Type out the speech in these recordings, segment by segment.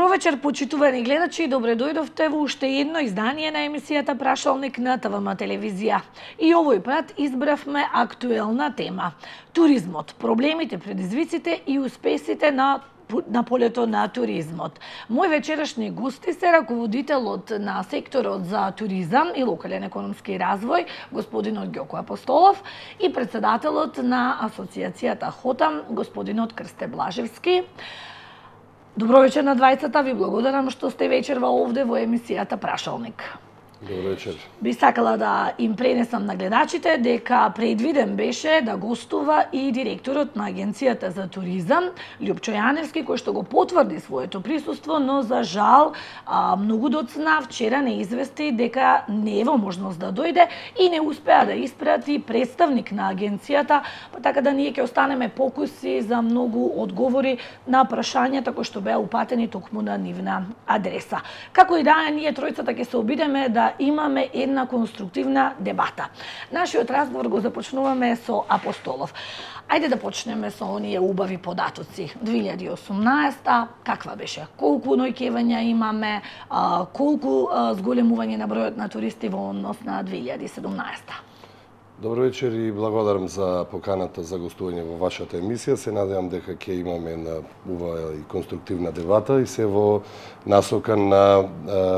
Добро вечер, почитувани гледачи, добре дојдовте во уште едно издание на емисијата Прашалник на ТВМ телевизија. И овој пат избравме актуелна тема – туризмот, проблемите, предизвиците и успесите на полето на туризмот. Мој вечерашни гости се раководителот на секторот за туризам и локален економски развој, господинот Ѓоко Апостолов, и председателот на Асоцијацијата ХОТАМ, господинот Крсте Блажевски. Добро вечер на двајцата, ви благодарам што сте вечерва овде во емисијата Прашалник. Добро вечер. Би сакала да им пренесам на гледачите дека предвиден беше да гостува и директорот на Агенцијата за туризам, Љупчо Јаневски, кој што го потврди своето присуство, но за жал многу доцна вчера не извести дека не е во можност да дојде и не успеа да испрати представник на агенцијата, па така да ние ќе останеме покуси за многу одговори на прашањата кои што беа упатени токму на нивна адреса. Како и да, ние тројцата ќе се обидеме да имаме една конструктивна дебата. Нашиот разговор го започнуваме со Апостолов. Ајде да почнеме со оние убави податоци. 2018, каква беше? Колку ноќевања имаме, колку зголемување на бројот на туристи во однос на 2017? Добро вечер и благодарам за поканата за гостување во вашата емисија. Се надевам дека ќе имаме една убава и конструктивна дебата и се во насока на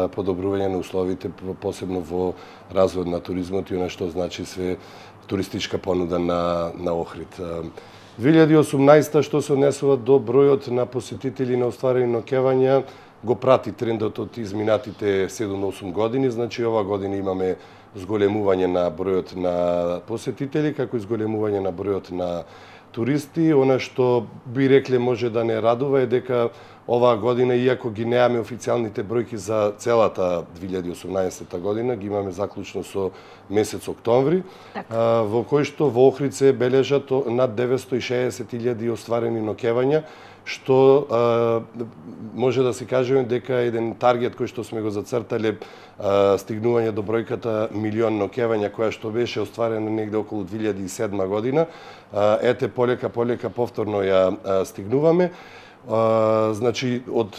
подобрување на условите, посебно во развојот на туризмот и она што значи све туристичка понуда на Охрид. 2018 што се однесува до бројот на посетители на остварени ноќевања, го прати трендот од изминатите 7-8 години, значи ова година имаме зголемување на бројот на посетители, како и зголемување на бројот на туристи. Она што би рекле може да не радува е дека оваа година, иако ги неаме официјалните бројки за целата 2018 година, ги имаме заклучно со месец октомври, во кој што во Охрид се бележат над 960.000 остварени ноќевања, што може да се кажеме дека еден таргет кој што сме го зацртале, стигнување до бројката милион ноќевања која што беше остварена негде околу 2007 година, ете полека повторно ја стигнуваме. Значи од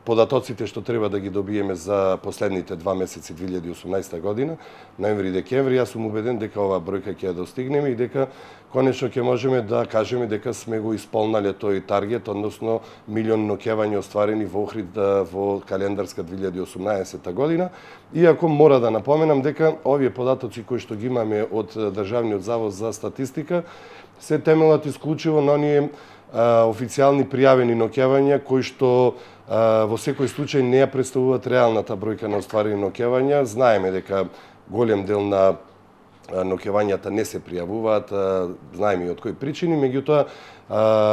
податоците што треба да ги добиеме за последните 2 месеци 2018 година, ноември и декември, јас сум убеден дека оваа бројка ќе ја достигнеме и дека конечно ќе можеме да кажеме дека сме го исполнале тој таргет, односно милион ноќевања остварени во Охрид во календарска 2018 година. Иако мора да напоменам дека овие податоци кои што ги имаме од Државниот завод за статистика се темелат исклучиво на оние официјални пријавени ноќевања кои што во секој случај не ја представуваат реалната бројка на остварени ноќевања. Знаеме дека голем дел на ноќевањата не се пријавуваат, знаеме и од кои причини, меѓутоа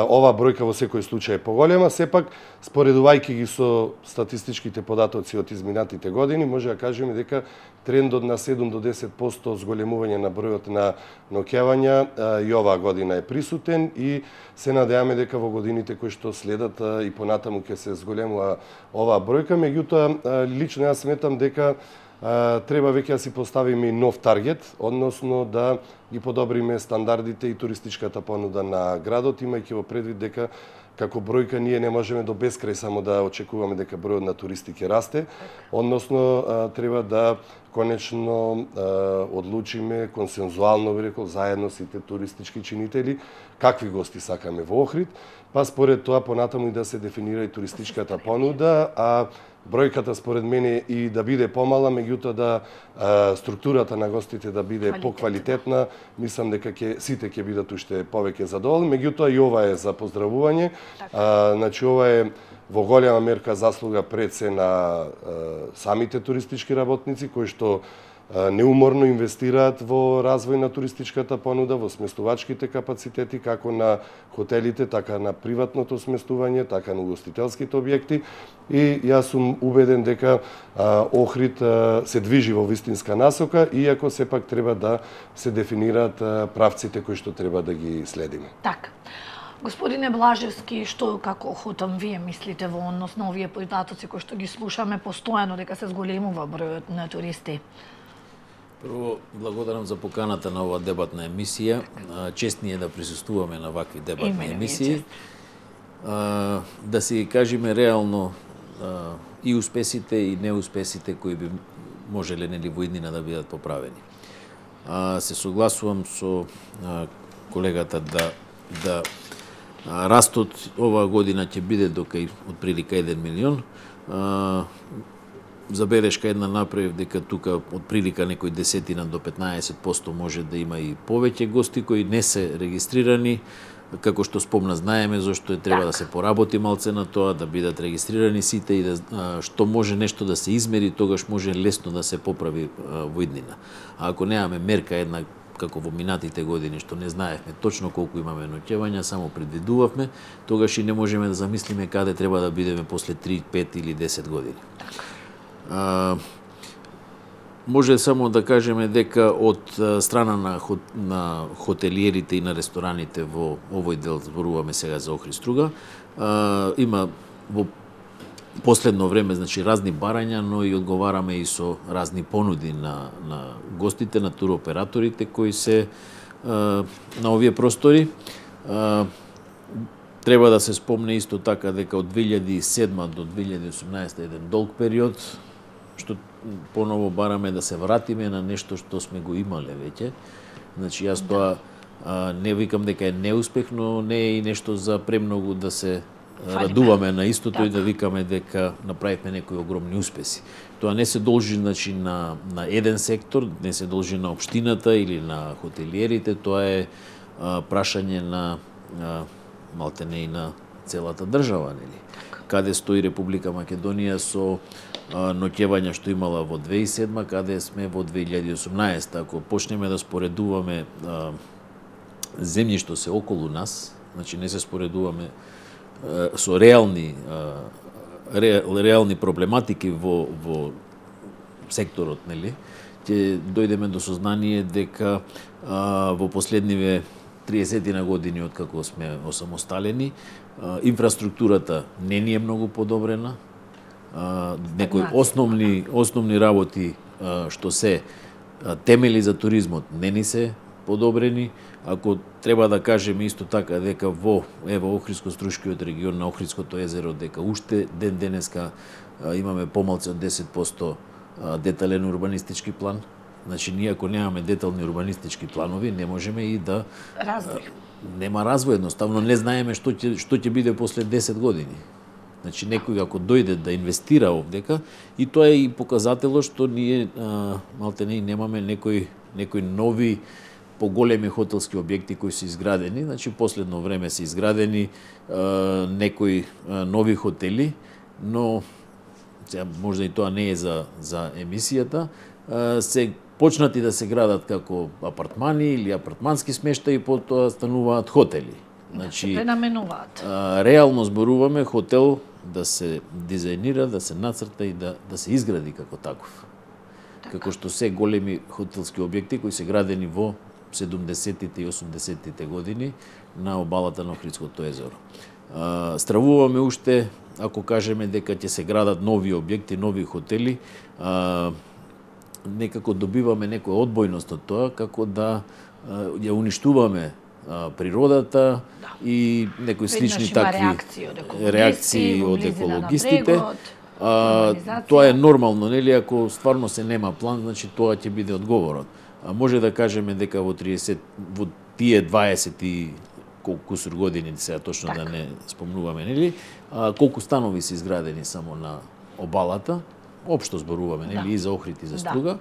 оваа бројка во секој случај е поголема. Сепак, споредувајќи ги со статистичките податоци од изминатите години, може да кажеме дека трендот на 7 до 10% зголемување на бројот на ноќевања и оваа година е присутен и се надеваме дека во годините кои што следат и понатаму ќе се зголемува оваа бројка. Меѓутоа, лично јас сметам дека треба веќе да си поставиме нов таргет, односно да ги подобриме стандардите и туристичката понуда на градот, имајќи во предвид дека како бројка ние не можеме до бескрај само да очекуваме дека бројот на туристи ќе расте, односно треба да конечно одлучиме консензуално, би рекол, заедно сите туристички чинители какви гости сакаме во Охрид, па според тоа понатаму и да се дефинира и туристичката понуда, а бројката според мене и да биде помала, меѓутоа да структурата на гостите да биде поквалитетна, мислам дека сите ќе бидат уште повеќе задоволни, меѓутоа и ова е за поздравување. Значи ова е во голема мерка заслуга пред се на самите туристички работници кои што неуморно инвестираат во развој на туристичката понуда, во сместувачките капацитети, како на хотелите, така на приватното сместување, така на угостителските објекти. И јас сум убеден дека Охрид се движи во вистинска насока, иако сепак треба да се дефинираат правците кои што треба да ги следиме. Така. Господине Блажевски, што како ХОТАМ вие мислите во однос на овие податоци кои што ги слушаме постојано дека се зголемува бројот на туристи? Прво, благодарам за поканата на оваа дебатна емисија. Чест ни е да присуствуваме на вакви дебатни емисии. Да си кажеме реално и успесите и неуспесите кои би можеле нели во иднина да бидат поправени. Се согласувам со колегата да растот оваа година ќе биде дока од прилика 1 милион. Забелешка една направив дека тука од прилика некој 10 до 15% може да има и повеќе гости кои не се регистрирани. Како што спомна, знаеме зашто треба да се поработи малце на тоа, да бидат регистрирани сите и што може нешто да се измери, тогаш може лесно да се поправи во иднина. А ако немаме мерка една како во минатите години, што не знаевме точно колку имаме ноќевања, само предвидувавме, тогаш и не можеме да замислиме каде треба да бидеме после 3, 5 или 10 години. Може само да кажеме дека од страна на хотелиерите и на рестораните во овој дел, зборуваме сега за Охрид Струга, има во последно време разни барања, но и одговараме и со разни понуди на гостите, на туроператорите кои се на овие простори. Треба да се спомне исто така дека од 2007 до 2018 еден долг период, што поново бараме да се вратиме на нешто што сме го имале веќе. Јас тоа не викам дека е неуспех, но не е и нешто за премногу да се радуваме на истото и да викаме дека направивме некои огромни успеси. Тоа не се должи на еден сектор, не се должи на општината или на хотелиерите, тоа е прашање на малтене и на целата држава, нели? Каде стои Република Македонија со ноќевања што имала во 2007, каде сме во 2018. Ако почнеме да споредуваме земји што се околу нас, не се споредуваме со реални проблематики во секторот, нели, ќе дојдеме до сознание дека во последниве 30 години откако сме осамосталени, инфраструктурата не ни е многу подобрена. Некои основни работи што се темели за туризмот не ни се подобрени. Ако треба да кажеме исто така дека во Охридско-Струшкиот регион на Охридското езеро дека уште ден денеска имаме помалку од 10% детален урбанистички план. Ние ако немаме детални урбанистички планови, не можеме и да нема развој, едноставно не знаеме што ќе биде после 10 години. Некој ако дојде да инвестира овдека, и тоа е и показателот што ние малтене немаме некои нови поголеми хотелски објекти кои се изградени. Последно време се изградени некои нови хотели, но можда и тоа не е за емисијата, се почнати да се градат како апартмани или апартмански смештаи, потоа стануваат хотели. Се пренаменуваат. Реално зборуваме хотел да се дизајнира, да се нацрта и да се изгради како таков. Како што се големи хотелски објекти кои се градени во 70-тите и 80-тите години на обалата на Охридското езеро. Стравуваме уште, ако кажеме дека ќе се градат нови објекти, нови хотели, некако добиваме некоја одбојност од тоа, како да ја уништуваме природата и некои слични такви реакции од екологистите. Тоа е нормално, нели? Ако стварно се нема план, тоа ќе биде одговорот. Може да кажеме дека во тие 20 и колку кусур години, сега точно да не спомнуваме, нели? Колку станови се изградени само на обалата, општо зборуваме, нели, и за Охрид и за Струга,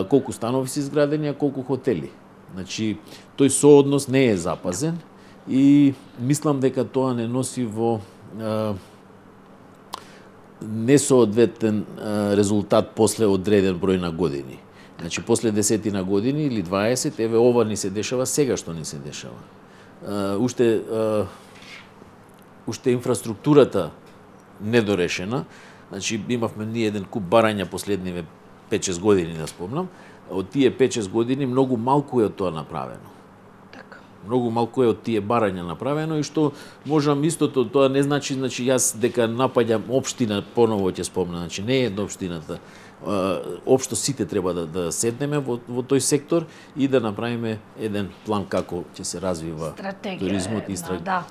колку станови се изградени, а колку хотели. Тој сооднос не е запазен и мислам дека тоа не носи во несоодветен резултат после одреден број на години. После 10 на години или 20, еве ова ни се дешава сега што ни се дешава. Уште инфраструктурата недорешена. Имавме ние еден куп барања последниве 5-6 години, да спомнам. Од тие 5-6 години многу малку е од тоа направено. Многу малку е од тие барања направено и што можам истото, тоа не значи јас дека напаѓам општина, поново ќе спомнам, не е општината. Општо сите треба да седнеме во тој сектор и да направиме еден план како ќе се развива туризмот и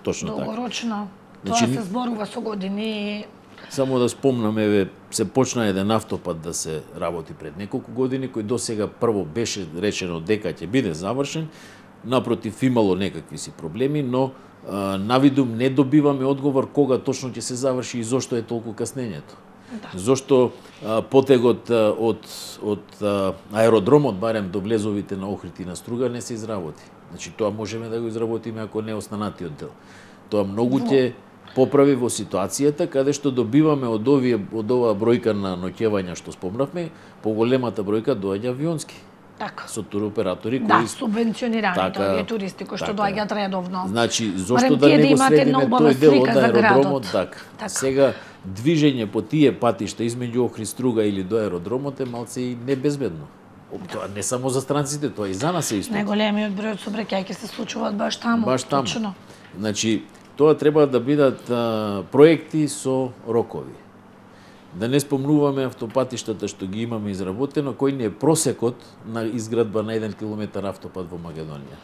точно така. Долгорочно. Тоа се зборува со години. Само да спомнам, еве, се почна еден автопат да се работи пред неколку години, кој досега прво беше речено дека ќе биде завршен, напротив имало некакви си проблеми, но навидум не добиваме одговор кога точно ќе се заврши и зошто е толку каснењето. Да. Зошто потегот од аеродромот, барем до влезовите на Охрид и на Струга, не се изработи. Значи тоа можеме да го изработиме ако не останатиот дел. Тоа многу ќе поправи во ситуацијата каде што добиваме од оваа бројка на ноќевања што спомнавме, поголемата бројка доаѓа авионски. Така. Со туроператори кои субвенционираните овие туристи кои што доаѓаат редовно. Значи, зошто да не го средиме тој дел од аеродромот? Така. Сега движење по тие патишта измеѓу Охрид, Струга или до аеродромот е малце и небезбедно. Тоа не само за странците, тоа и за нас е исто. Најголемиот број од сообраќајки се случуваат баш таму. Баш таму. Точно. Значи, тоа треба да бидат проекти со рокови. Да не спомнуваме автопатиштата што ги имаме изработено, кој не е просекот на изградба на 1 километар автопат во Македонија.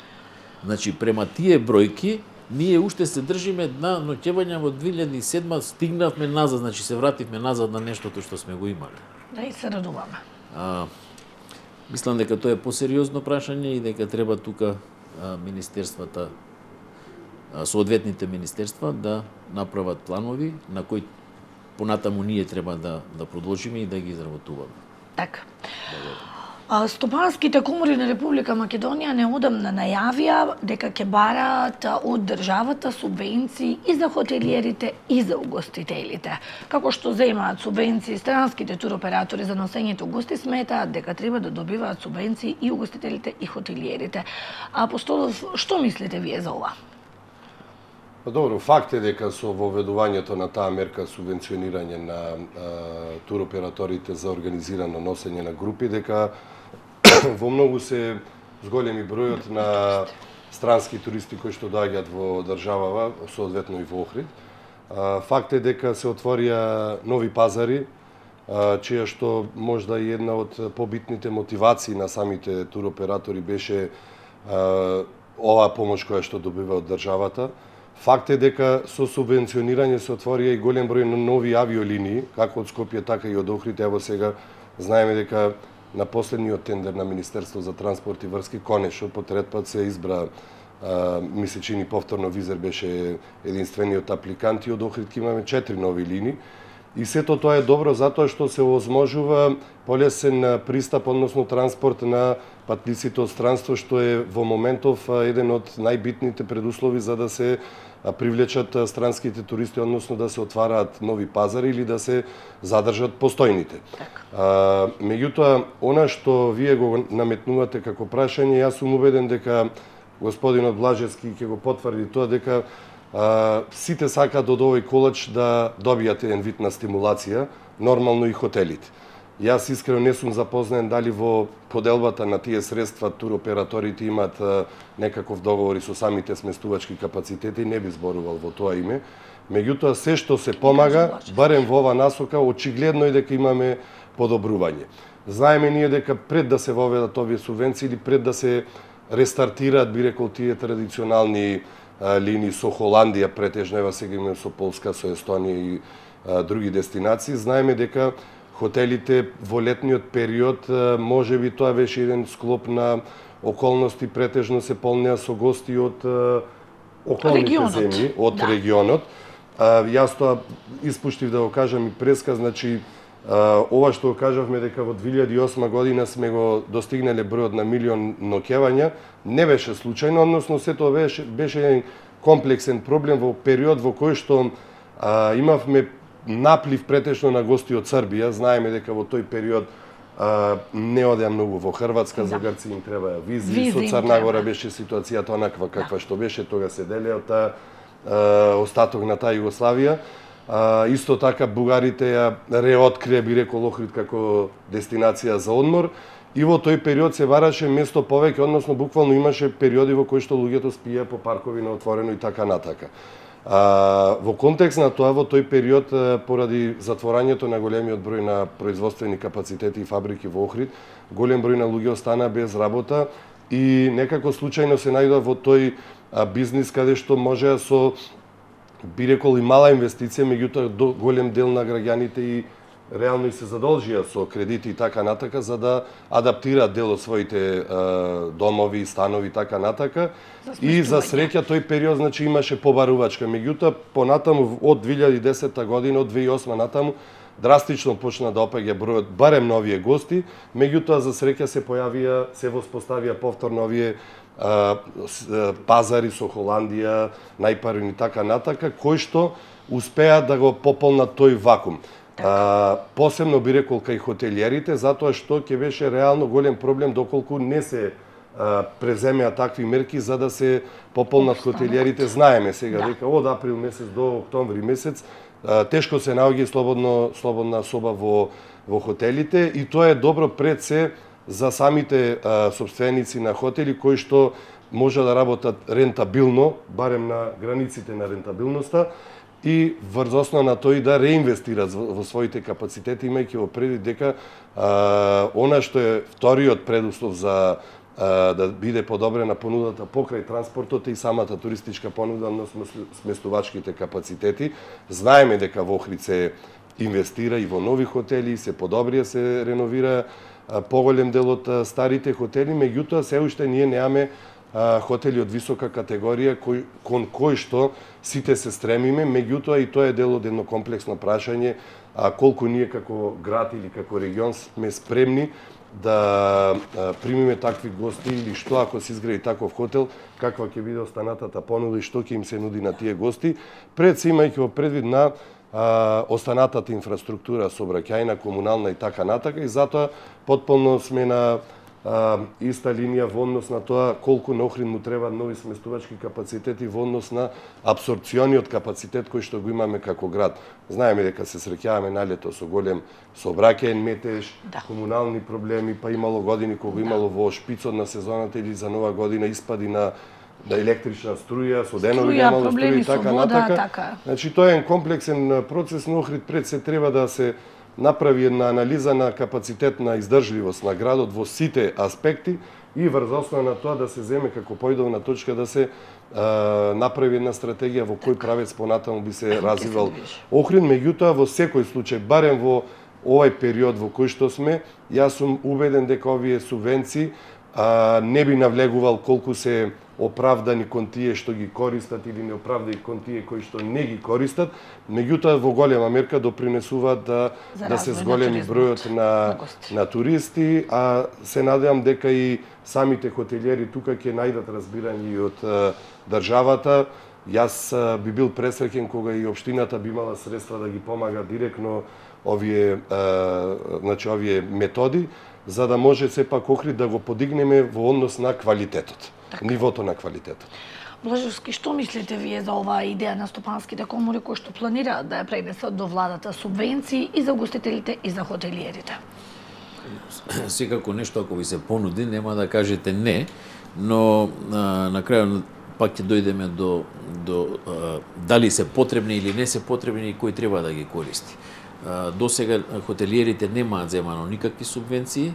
Значи, према тие бројки, ние уште се држиме на ноќевања во 2007, стигнавме назад, значи се вративме назад на нештото што сме го имали. Да, и се радуваме. Мислам дека тоа е посериозно прашање и дека треба тука министерствата, соодветните министерства да направат планови на кои понатаму ние треба да продолжиме и да ги изработуваме. Така. Стопанските комори на Република Македонија неодамна најавија дека ќе бараат од државата субвенции и за хотелиерите и за угостителите. Како што земаат субвенции странските туроператори за носењето гости, сметаат дека треба да добиваат субвенции и угостителите и хотелиерите. Апостолов, што мислите вие за ова? Добро, факт е дека со воведувањето на таа мерка субвенционирање на туроператорите за организирано носење на групи, дека во многу се зголеми бројот на странски туристи кои што доаѓаат во државава, соодветно и во Охрид. Факт е дека се отворија нови пазари, чија што можда и една од побитните мотивации на самите туроператори беше оваа помош која што добива од државата. Факт е дека со субвенционирање се отворија и голем број на нови авиолинии, како од Скопје, така и од Охрид. Ево сега знаеме дека на последниот тендер на Министерство за транспорт и врски конечно по трет пат се избра, ми се чини повторно Визер беше единствениот апликант и од Охрид имаме 4 нови линии. И сето тоа е добро затоа што се овозможува полесен пристап, односно транспорт на патниците од странство, што е во моментов еден од најбитните предуслови за да се привлечат странските туристи, односно да се отвараат нови пазари или да се задржат постојните. Меѓутоа, она што вие го наметнувате како прашање, јас сум убеден дека господинот Блажевски ќе го потврди тоа, дека сите сакаат од овој колач да добијат еден вид на стимулација, нормално и хотелите. Јас искрено не сум запознаен дали во поделбата на тие средства туроператорите имаат некаков договор и со самите сместувачки капацитети, не би зборувал во тоа име. Меѓутоа, се што се помага, барем во ова насока, очигледно е дека имаме подобрување. Знаеме ние дека пред да се воведат овие субвенции или пред да се рестартираат, би рекол, тие традиционални линии со Холандија, претежно ева сега имаме со Полска, со Естонија и други дестинации, знаеме дека хотелите во летниот период, може би тоа беше еден склоп на околности, претежно се полнеа со гости од околните земји, од регионот. Јас тоа испуштив да го кажам и преска, значи ова што го кажавме дека во 2008 година сме го достигнале бројот на 1 милион ноќевања, не беше случајно, односно се тоа беше еден комплексен проблем во период во кој што имавме наплив претежно на гости од Србија. Знаеме дека во тој период не одеа многу во Хрватска, за грци им требаја визи, со Црна Гора беше ситуацијата онаква каква што беше, тога се делеа од остаток на таа Југославија. Исто така бугарите ја реоткрија, би рекол, Охрид како дестинација за одмор и во тој период се бараше место повеќе, односно буквално имаше периоди во кои што луѓето спија по паркови на отворено и така натака. Во контекст на тоа, во тој период, поради затворањето на големиот број на производствени капацитети и фабрики во Охрид, голем број на луѓе остана без работа и некако случајно се најдоа во тој бизнис каде што можеа со би рекол и мала инвестиција, меѓутоа голем дел на граѓаните и реално и се задолжија со кредити и така натака за да адаптираат дел од своите домови, станови и така натака. И за среќа тој период значи имаше побарувачка, меѓутоа понатаму од 2010 година, од 2008 натаму драстично почна да опаѓа бројот барем на овие гости, меѓутоа за среќа се појавија, се воспоставија повторно овие пазари со Холандија, најпарни и така натака, кои што успеа да го пополнат тој вакуум. Посебно би рекол кај хотелиерите, затоа што ќе беше реално голем проблем доколку не се преземеа такви мерки за да се пополнат хотелиерите. Знаеме сега дека од април месец до октомври месец тешко се наоѓа слободна соба во хотелите и тоа е добро пред се за самите сопственици на хотели кои што може да работат рентабилно, барем на границите на рентабилноста, и врз основа на тој да реинвестираат во своите капацитети, имајќи во предвид дека она што е вториот предуслов за да биде подобрена понудата покрај транспортот и самата туристичка понуда на сместувачките капацитети. Знаеме дека во Охрид се инвестира и во нови хотели, се подобрија, се реновира поголем дел од старите хотели, меѓутоа се уште ние немаме хотели од висока категорија кон кој што сите се стремиме, меѓутоа и тоа е дел од едно комплексно прашање колку ние како град или како регион сме спремни да примиме такви гости или што ако се изгради таков хотел, каква ќе биде останатата понуда и што ќе им се нуди на тие гости, пред се имајќи во предвид на останатата инфраструктура сообраќајна, комунална и така натака, и затоа потполно сме на иста линија во однос на тоа колку на Охрид му треба нови сместувачки капацитети во однос на апсорбциониот капацитет кој што го имаме како град. Знаеме дека се среќаваме на лето со голем сообраќаен метеж, комунални проблеми, па имало години кога имало во шпицот на сезоната или за нова година испади на електрична струја, со денови немало струја и така натака. Значи тоа е комплексен процес, но Охрид пред се треба да се направи една анализа на капацитет на издржливост на градот во сите аспекти и врз основа на тоа да се земе како поидовна точка да се направи една стратегија во кој правец понатаму би се развивал Охрид, меѓутоа во секој случај, барем во овај период во кој што сме, јас сум убеден дека овие субвенции не би навлегувал колку се оправдани кон тие што ги користат или неоправдани кон тие кои што не ги користат, меѓутоа во голема мерка допринесуваат да се зголеми бројот на туристи, а се надевам дека и самите хотелиери тука ќе најдат разбирање и од државата. Јас би бил пресреќен кога и општината би имала средства да ги помага директно овие методи, за да може сепак Охрид да го подигнеме во однос на квалитетот, нивото на квалитетот. Блажевски, што мислите вие за оваа идеја на стопанските комори кои што планираат да ја пренесат до владата субвенции и за гостителите и за хотелиерите? Секако нешто ако ви се понуди, нема да кажете не, но на крајот пак ќе дојдеме до дали се потребни или не се потребни и кој треба да ги користи. До сега хотелиерите немаат земано никакви субвенции.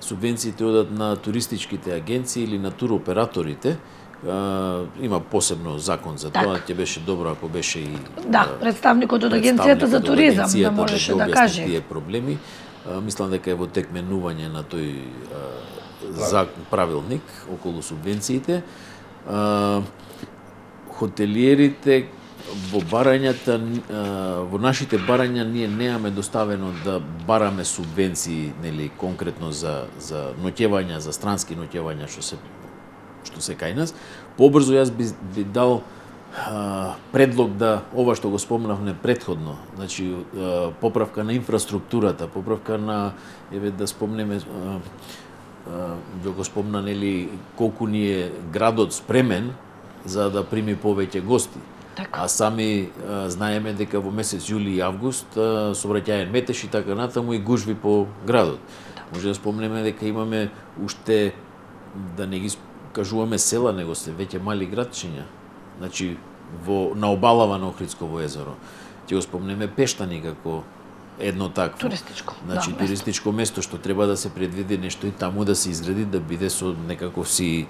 Субвенциите одат на туристичките агенции или на туроператорите. Има посебно закон за тоа, ќе беше добро ако беше и представникот од агенцијата за туризам да можеше да каже тие проблеми. Мислам дека е во тек менување на тој правилник околу субвенциите. Хотелиерите во нашите барања ние немаме доставено да бараме субвенции, нели, конкретно за ноќевања, за странски ноќевања што се кај нас. Побрзо јас би дал предлог да ова што го спомнавме претходно, значи поправка на инфраструктурата, поправка на да спомнеме го спомна, нели, колку ни е градот спремен за да прими повеќе гости. А сами знаеме дека во месец јули и август сообраќаен метеж и така натаму и гужви по градот. Може да спомнеме дека имаме уште, да не ги кажуваме села, него се веќе мали градчиња. Значи на обалава на Охридсково езеро. Ќе го спомнеме Пештани како едно такво. Туристичко. Значи, да, туристичко место што треба да се предвиди нешто и таму да се изгради, да биде со некаков си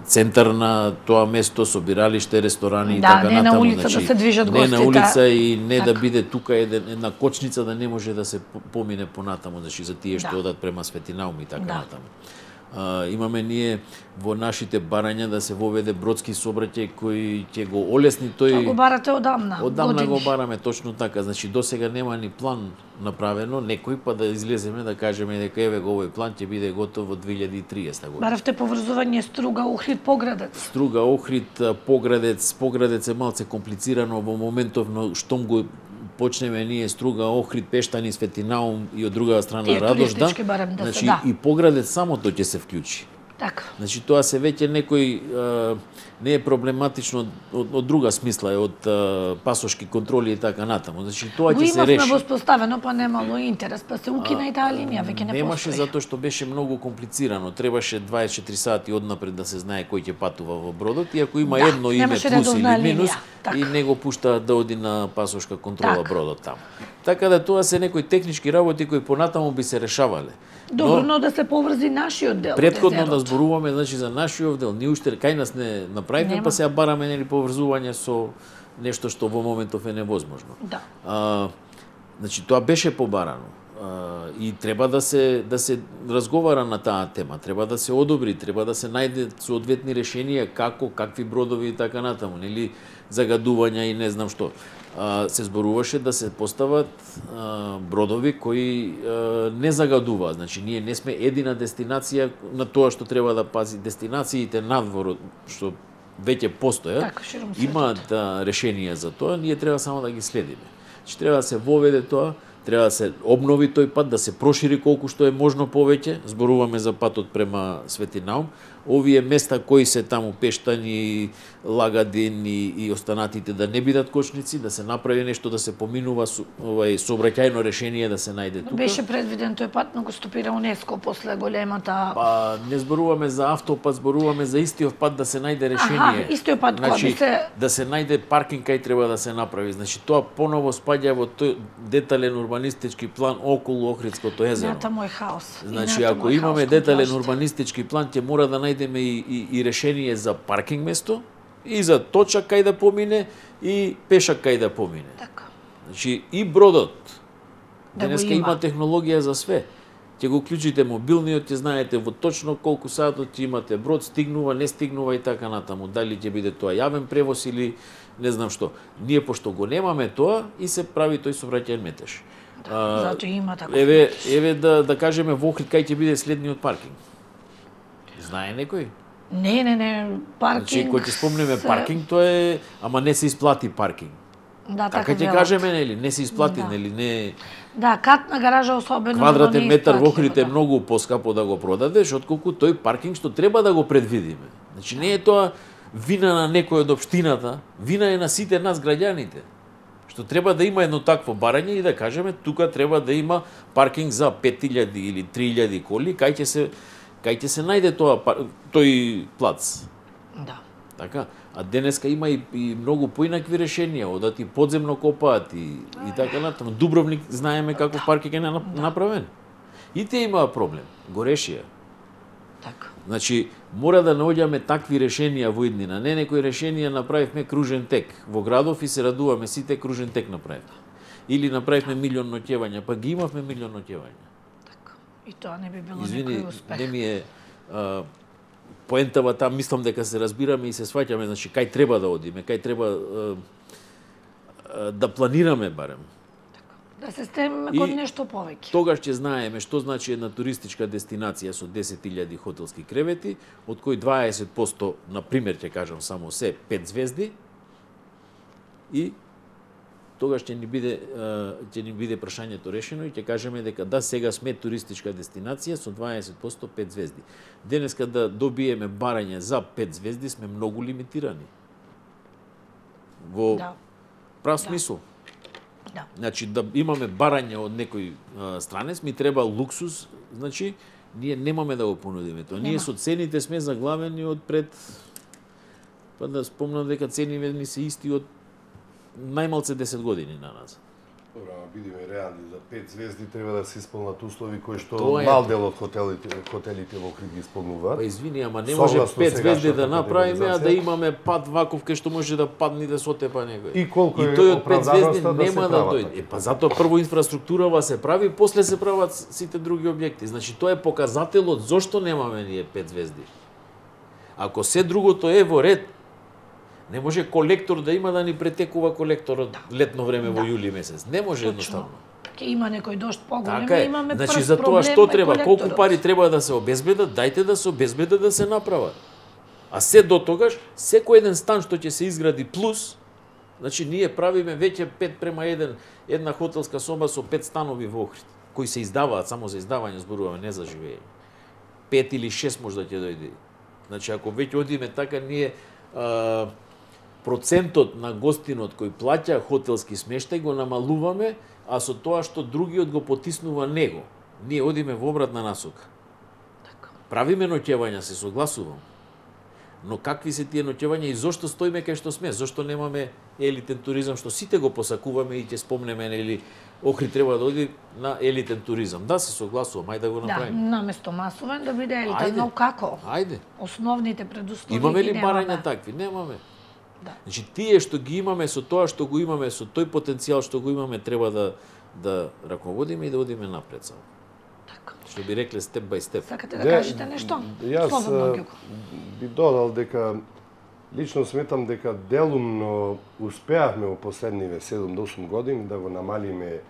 центар на тоа место, собиралиште, ресторани и така не натаму. на улица да се движат гостите. Не на улица и не така. Да биде тука една кочница да не може да се помине понатаму, значи за тие што одат према Светинаум и така натаму. Имаме ние во нашите барања да се воведе бродски сообраќај кој ќе го олесни тој. Тоа го барате одамна. Одамна го бараме, точно така. Значи досега нема ни план направено, некој па да излеземе да кажеме дека еве го овој план ќе биде готов во 2030 година. Баравте поврзување Струга, Охрид, Поградец. Струга, Охрид, Поградец е малце комплицирано во моментов, но штом го почнеме ние Струга, Охрид, Пештани, Светинаум и од другата страна Радожда, значи и Поградец самото ќе се вклучи. Така. Значи тоа се веќе некој не е проблематично од друга смисла, од пасошки контроли и така натаму. Значи тоа ќе се реши. Имавме воспоставено, па немало интерес, па се укина и таа линија, веќе не постои. Немаше затоа што беше многу комплицирано. Требаше 24 сати однапред да се знае кој ќе патува во бродот и ако има едно име плюс или минус и не го пуштаат да оди на пасошка контрола бродот таму. Така да тоа се некои технички работи кои понатаму би се решавале. Добро, но да се поврзи нашиот дел. Предходно да зборуваме, значи за нашиот дел, ние уште кај нас не направивме, па сега бараме нели поврзување со нешто што во моментов е невозможно. Да. Значи тоа беше побарано. И треба да се разговара на таа тема, треба да се одобри, треба да се најде соодветни решенија како, какви бродови и така натаму, нели загадувања и не знам што. Се зборуваше да се постават бродови кои не загадуваат. Значи, ние не сме едина дестинација на тоа што треба да пази. Дестинациите надвор, што веќе постојат, имаат решенија за тоа, ние треба само да ги следиме. Значи, треба да се воведе тоа, треба да се обнови тој пат, да се прошири колку што е можно повеќе. Зборуваме за патот према Светинаум. Овие места кои се таму Пештани, Лагадин и останатите да не бидат кочници, да се направи нешто, да се поминува сообраќајно решение да се најде тука. Беше предвиден тој пат, но го стопира УНЕСКО после големата. Па не зборуваме за автопат, зборуваме за истиот пат да се најде решение. Истиот пат значи, би се да се најде паркинг кај треба да се направи. Значи тоа поново спаѓа во тој детален урбанистички план околу Охридското езеро. Мој хаос. Значи ако имаме детален урбанистички план, ќе мора да најдеме и решение за паркинг место, и за точак кај да помине, и пешак кај да помине. Така. Значи и бродот. Да денеска има технологија за све. Ќе го клучите мобилниот, ќе знаете во точно колку сатот ќе имате брод, стигнува, не стигнува и така натаму. Дали ќе биде тоа јавен превоз или не знам што. Ние пошто го немаме тоа и се прави тој сообраќајен метеж. Зато има така. Еве да кажеме во Охрид кај ќе биде следниот паркинг. Знае некој? Не, паркинг. Значи, кој ќе спомнеме паркинг, тоа е, ама не се исплати паркинг. Да, така ќе кажеме, нели, не се исплати, нели, не. Да, катна гаража особено квадратен метар во Охрид е многу поскапо да го продадеш отколку тој паркинг што треба да го предвидиме. Значи не е тоа вина на некој од општината, вина е на сите нас граѓаните. Што треба да има едно такво барање и да кажеме тука треба да има паркинг за 5000 или 3000 коли, кај ќе се најде тој плац. Да. Така, а денеска има и многу поинакви решенија, одат и подземно копаат и така натаму. Дубровник знаеме каков паркинг е направен. И те имаа проблем, го решија. Така. Значи, мора да наоѓаме такви решенија во иднина. Не некои решенија направивме кружен тек во градов и се радуваме сите кружен тек направивме. Или направивме милион ноќевања, па ги имавме милион ноќевања. Така. И тоа не би било некој успех. Не ми е поентава там, мислам дека се разбираме и се сваќаме, значи кај треба да одиме, кај треба да планираме барем. Да се стремиме кон нешто повеќе. Тогаш ќе знаеме што значи една туристичка дестинација со 10.000 хотелски кревети, од кои 20%, на пример ќе кажам само се 5 звезди, и тогаш ќе ни биде прашањето решено и ќе кажеме дека да, сега сме туристичка дестинација со 20% 5 звезди. Денеска да добиеме барање за 5 звезди сме многу лимитирани. Во прав смисол. Да. Значи да имаме барање од некој странец, ми треба луксус, значи ние немаме да го понудиме тоа. Ние со цените сме заглавени од пред, па да спомнам дека цените ни се исти од најмалце 10 години на назад. Добро, бидеме реални, за 5 звезди треба да се исполнат услови кои што Тоа е. мал дел од хотелите во Охрид ги исполнуваат. Па извини, ама не може Согласно 5 звезди да сегашната направиме, а да категоризација. имаме пат ваков кај што може да падне и да се отепа некој. И колку е тој од 5 оправданоста звезди да се нема да прават дојде. такви. Па затоа прво инфраструктурава се прави, после се прават сите други објекти. Значи тоа е показателот зошто немаме ние 5 звезди. Ако се другото е во ред, не може колектор да има да ни претекува колекторот летно време во јули месец. Не може едноставно. Ке има некој дожд поголем, Така е. имаме Значи прв за тоа проблем што е треба, колку колекторот. пари треба да се обезбедат, дајте да се обезбедат да се направат. А се до тогаш, секој еден стан што ќе се изгради плюс, значи ние правиме веќе 5:1, една хотелска соба со 5 станови во Охрид, кои се издаваат само за издавање, зборуваме, не за живење. 5 или 6 може да ќе дојде. Значи ако веќе одиме така, ние процентот на гостинот кој плаќа хотелски смештај го намалуваме, а со тоа што другиот го потиснува него. Ние одиме во обратна насока. Правиме ноќевања, се согласувам. Но какви се тие ноќевања и зошто стоиме кај што сме? Зошто немаме елитен туризам што сите го посакуваме и ќе спомнеме, нели, Охрид треба да оди на елитен туризам. Да, се согласувам, ајде да го Да, направиме. наместо масовен да биде елитен, Ајде. но како? Ајде. Основните предуслови Имаме ги ли немаме. барања такви? Немаме. Да. Значи тие што ги имаме, со тоа што го имаме, со тој потенцијал што го имаме, треба да раководиме и да одиме напред само. Така. Што би рекле степ бај степ. Сакате да кажете нешто? Јас Слободно, Ѓуко. би додал дека лично сметам дека делумно успеавме во последниве 7 до 8 години да го намалиме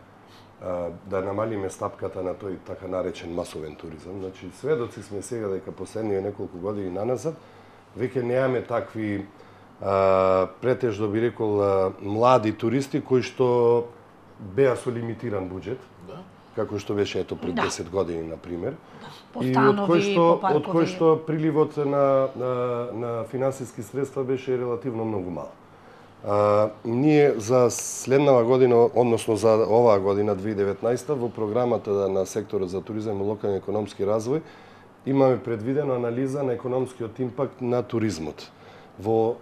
стапката на тој така наречен масовен туризам. Значи сведоци сме сега дека последниве неколку години наназад веќе немаме такви претежно би рекол млади туристи кои што беа со лимитиран буџет. Да. Како што беше ето пред Да. 10 години на пример. По И станови, по паркови. од кој што приливот на финансиски средства беше релативно многу мал. Ние за следнава година, односно за оваа година 2019 во програмата на секторот за туризам и локален економски развој имаме предвидено анализа на економскиот импакт на туризмот во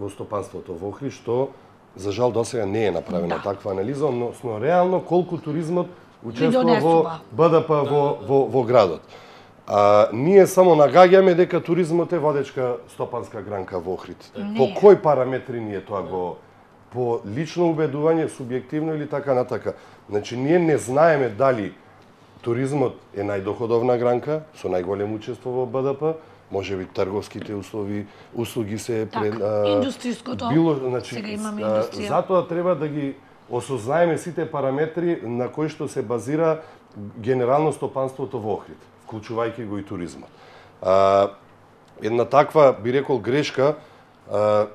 стопанството во Охрид, што за жал досега не е направена таква анализа, односно реално колку туризмот учествува во БДП во градот. Ние само нагаѓаме дека туризмот е водечка стопанска гранка во Охрид. По кои параметри ние тоа го по лично убедување, субјективно или така натака. Значи ние не знаеме дали туризмот е најдоходовна гранка со најголемо учество во БДП, можеби трговските услуги се индустријското. Сега имаме индустрија. Затоа треба да ги осознаеме сите параметри на кои што се базира генерално стопанството во Охрид, вклучувајќи го и туризмот. Една таква, би рекол, грешка,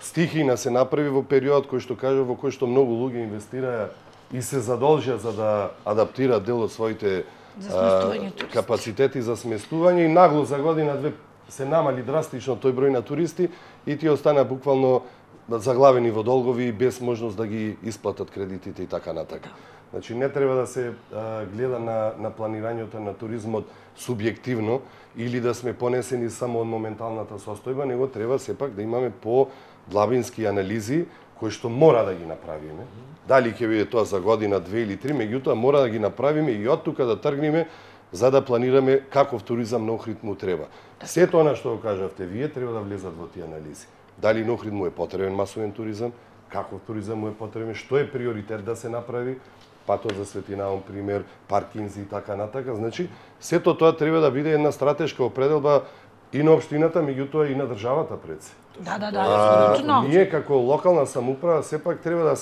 стихина се направи во период кој што кажа во кој што многу луѓе инвестираа и се задолжија за да адаптираат дел од своите капацитети за сместување и нагло за година-две се намали драстично тој број на туристи и тие остана буквално заглавени во долгови без можност да ги исплатат кредитите и така натака. Значи не треба да се гледа на планирањето на туризмот субјективно или да сме понесени само од моменталната состојба, него треба сепак да имаме по-длабински анализи кои што мора да ги направиме. Дали ќе биде тоа за година, 2 или 3, меѓутоа мора да ги направиме и од тука да тргнеме за да планираме каков туризам на Охрид му треба. Сето она што го кажавте вие треба да влезат во тие анализи. Дали на Охрид му е потребен масовен туризам, каков туризам му е потребен, што е приоритет да се направи, патот за Светинаон пример, паркинзи и така натака. Значи, сето тоа треба да биде една стратешка определба и на општината, меѓутоа и на државата пред се. Да, ние како локална самоуправа сепак треба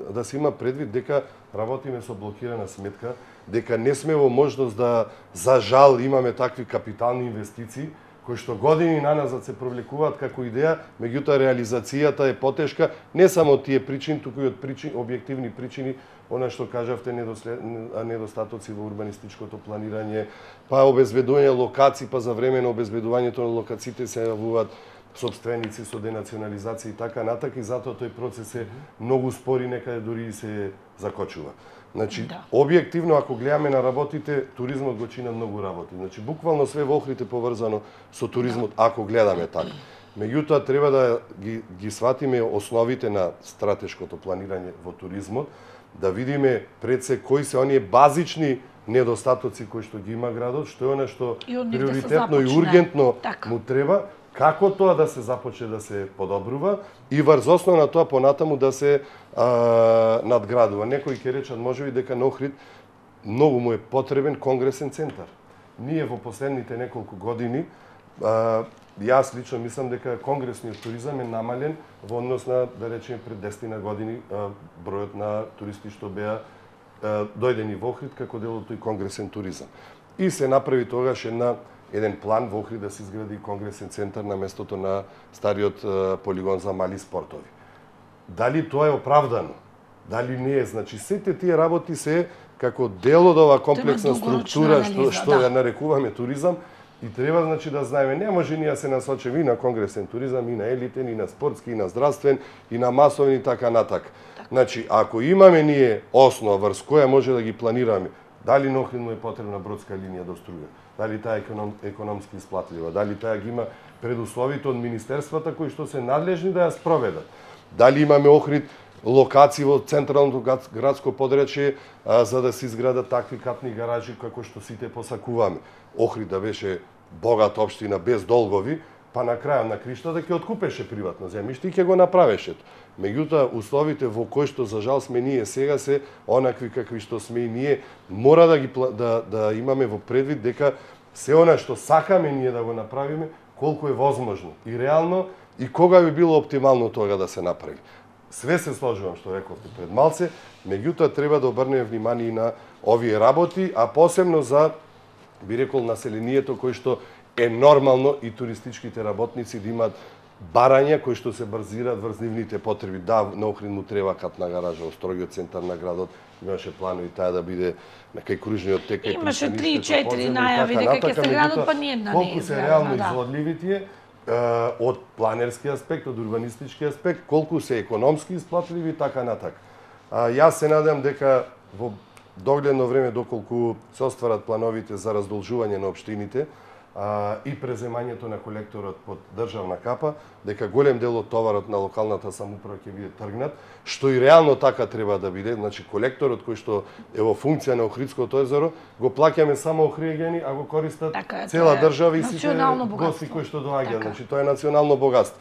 да се има предвид дека работиме со блокирана сметка, дека не сме во можност да за жал имаме такви капитални инвестиции кои што години наназад се провлекуваат како идеја, меѓутоа реализацијата е потешка не само од тие причини, туку и од објективни причини, она што кажавте недостатоци во урбанистичкото планирање, па обезбедување локации, па за време на обезбедувањето на локациите се јавуваат сопственици со денационализација и така натака и затоа тој процес е многу спори, некаде дури и се закочува. Значи, објективно, ако гледаме на работите, туризмот го чина многу работи. Значи, буквално све во Охрид е поврзано со туризмот, ако гледаме така. Меѓутоа, треба да ги сватиме основите на стратешкото планирање во туризмот, да видиме пред се кои се оние базични недостатоци кои што ги има градот, што е она што приоритетно и ургентно му треба, како тоа да се започне да се подобрува и врз основа на тоа понатаму да се надградува. Некои ќе речат можеби дека на Охрид многу му е потребен конгресен центар. Ние во последните неколку години, јас лично мислам дека конгресниот туризам е намален во однос на, да речеме, пред 10 години бројот на туристи што беа дојдени во Охрид како дел од тој конгресен туризам. И се направи тогаш еден план во Охрид да се изгради конгресен центар на местото на стариот полигон за мали спортови. Дали тоа е оправдано? Дали не е? Значи, сите тие работи се како дел од оваа комплексна структура што ја нарекуваме туризам и треба, значи, да знаеме, не може ние се насочиме и на конгресен туризам, и на елитен, и на спортски, и на здравствен, и на масовен и така натак. Значи, ако имаме ние основа врз која може да ги планираме, дали на Охрид му е потребна бродска линија до струја, дали таа економски исплатлива, дали таа ги има предусловите од министерствата кои што се надлежни да ја спроведат, дали имаме Охрид локации во централното градско подречје за да се изградат такви катни гаражи како што сите посакуваме. Охрид да беше богата општина без долгови, па на крајот на криштата ќе откупеше приватно земјиште и ќе го направеше. Меѓутоа, условите во кои што за жал сме ние сега се онакви какви што сме и ние, мора да имаме во предвид дека се она што сакаме ние да го направиме, колку е возможно и реално и кога би било оптимално тоа да се направи. Све се сложувам што рековте пред малце, меѓутоа треба да обрнеме внимание и на овие работи, а посебно за, би рекол, населението кој што е нормално и туристичките работници да имаат барања кои што се базираат врз нивните потреби. Да, на Охрид му треба катна гаража во строгиот центар на градот, имаше планови таа да биде на кај кружниот тек, кај имаше 3-4 најави дека ќе се градот, па не една не е. Колку се реално изводливи тие од планерски аспект, од урбанистички аспект, колку се економски исплатливи и така натак. Јас се надам дека во догледно време, доколку се остварат плановите за раздолжување на општините и преземањето на колекторот под државна капа, дека голем дел од товарот на локалната самоуправа ќе биде тргнат, што и реално така треба да биде. Значи, колекторот кој што е во функција на Охридското езеро, го плаќаме само охриѓани, а го користат цела држава и сите гости кои што доаѓаат. Значи, тоа е национално богатство.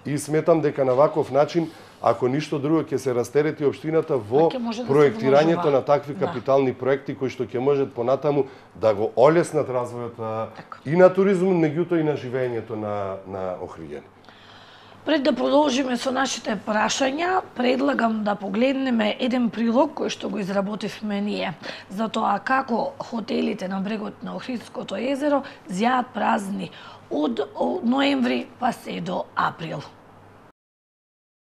И сметам дека на ваков начин, ако ништо друго, ќе се растерети општината во проектирањето на такви капитални проекти кои што ќе можат понатаму да го олеснат развојот и на туризмот, меѓутоа и на живеењето на охриѓани. Пред да продолжиме со нашите прашања, предлагам да погледнеме еден прилог кој што го изработивме ние за тоа како хотелите на брегот на Охридското езеро зјаат празни од ноември па се до април.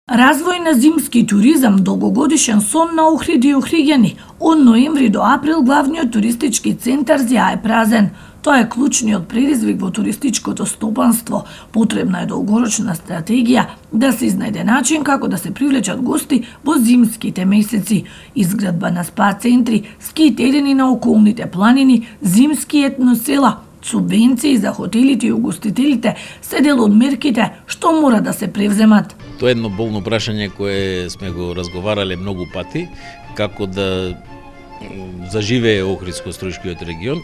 Развој на зимски туризам, долгогодишен сон на Охрид и охриѓани. Од ноември до април главниот туристички центар зјае празен. Тоа е клучниот предизвик во туристичкото стопанство. Потребна е долгорочна стратегија да се изнајде начин како да се привлечат гости во зимските месеци. Изградба на спа центри, ски терени на околните планини, зимски етносела, субвенции за хотелите и угостителите се дел од мерките што мора да се превземат. Тоа е едно болно прашање кое сме го разговарале многу пати, како да заживее Охридско-Струјшкиот регион,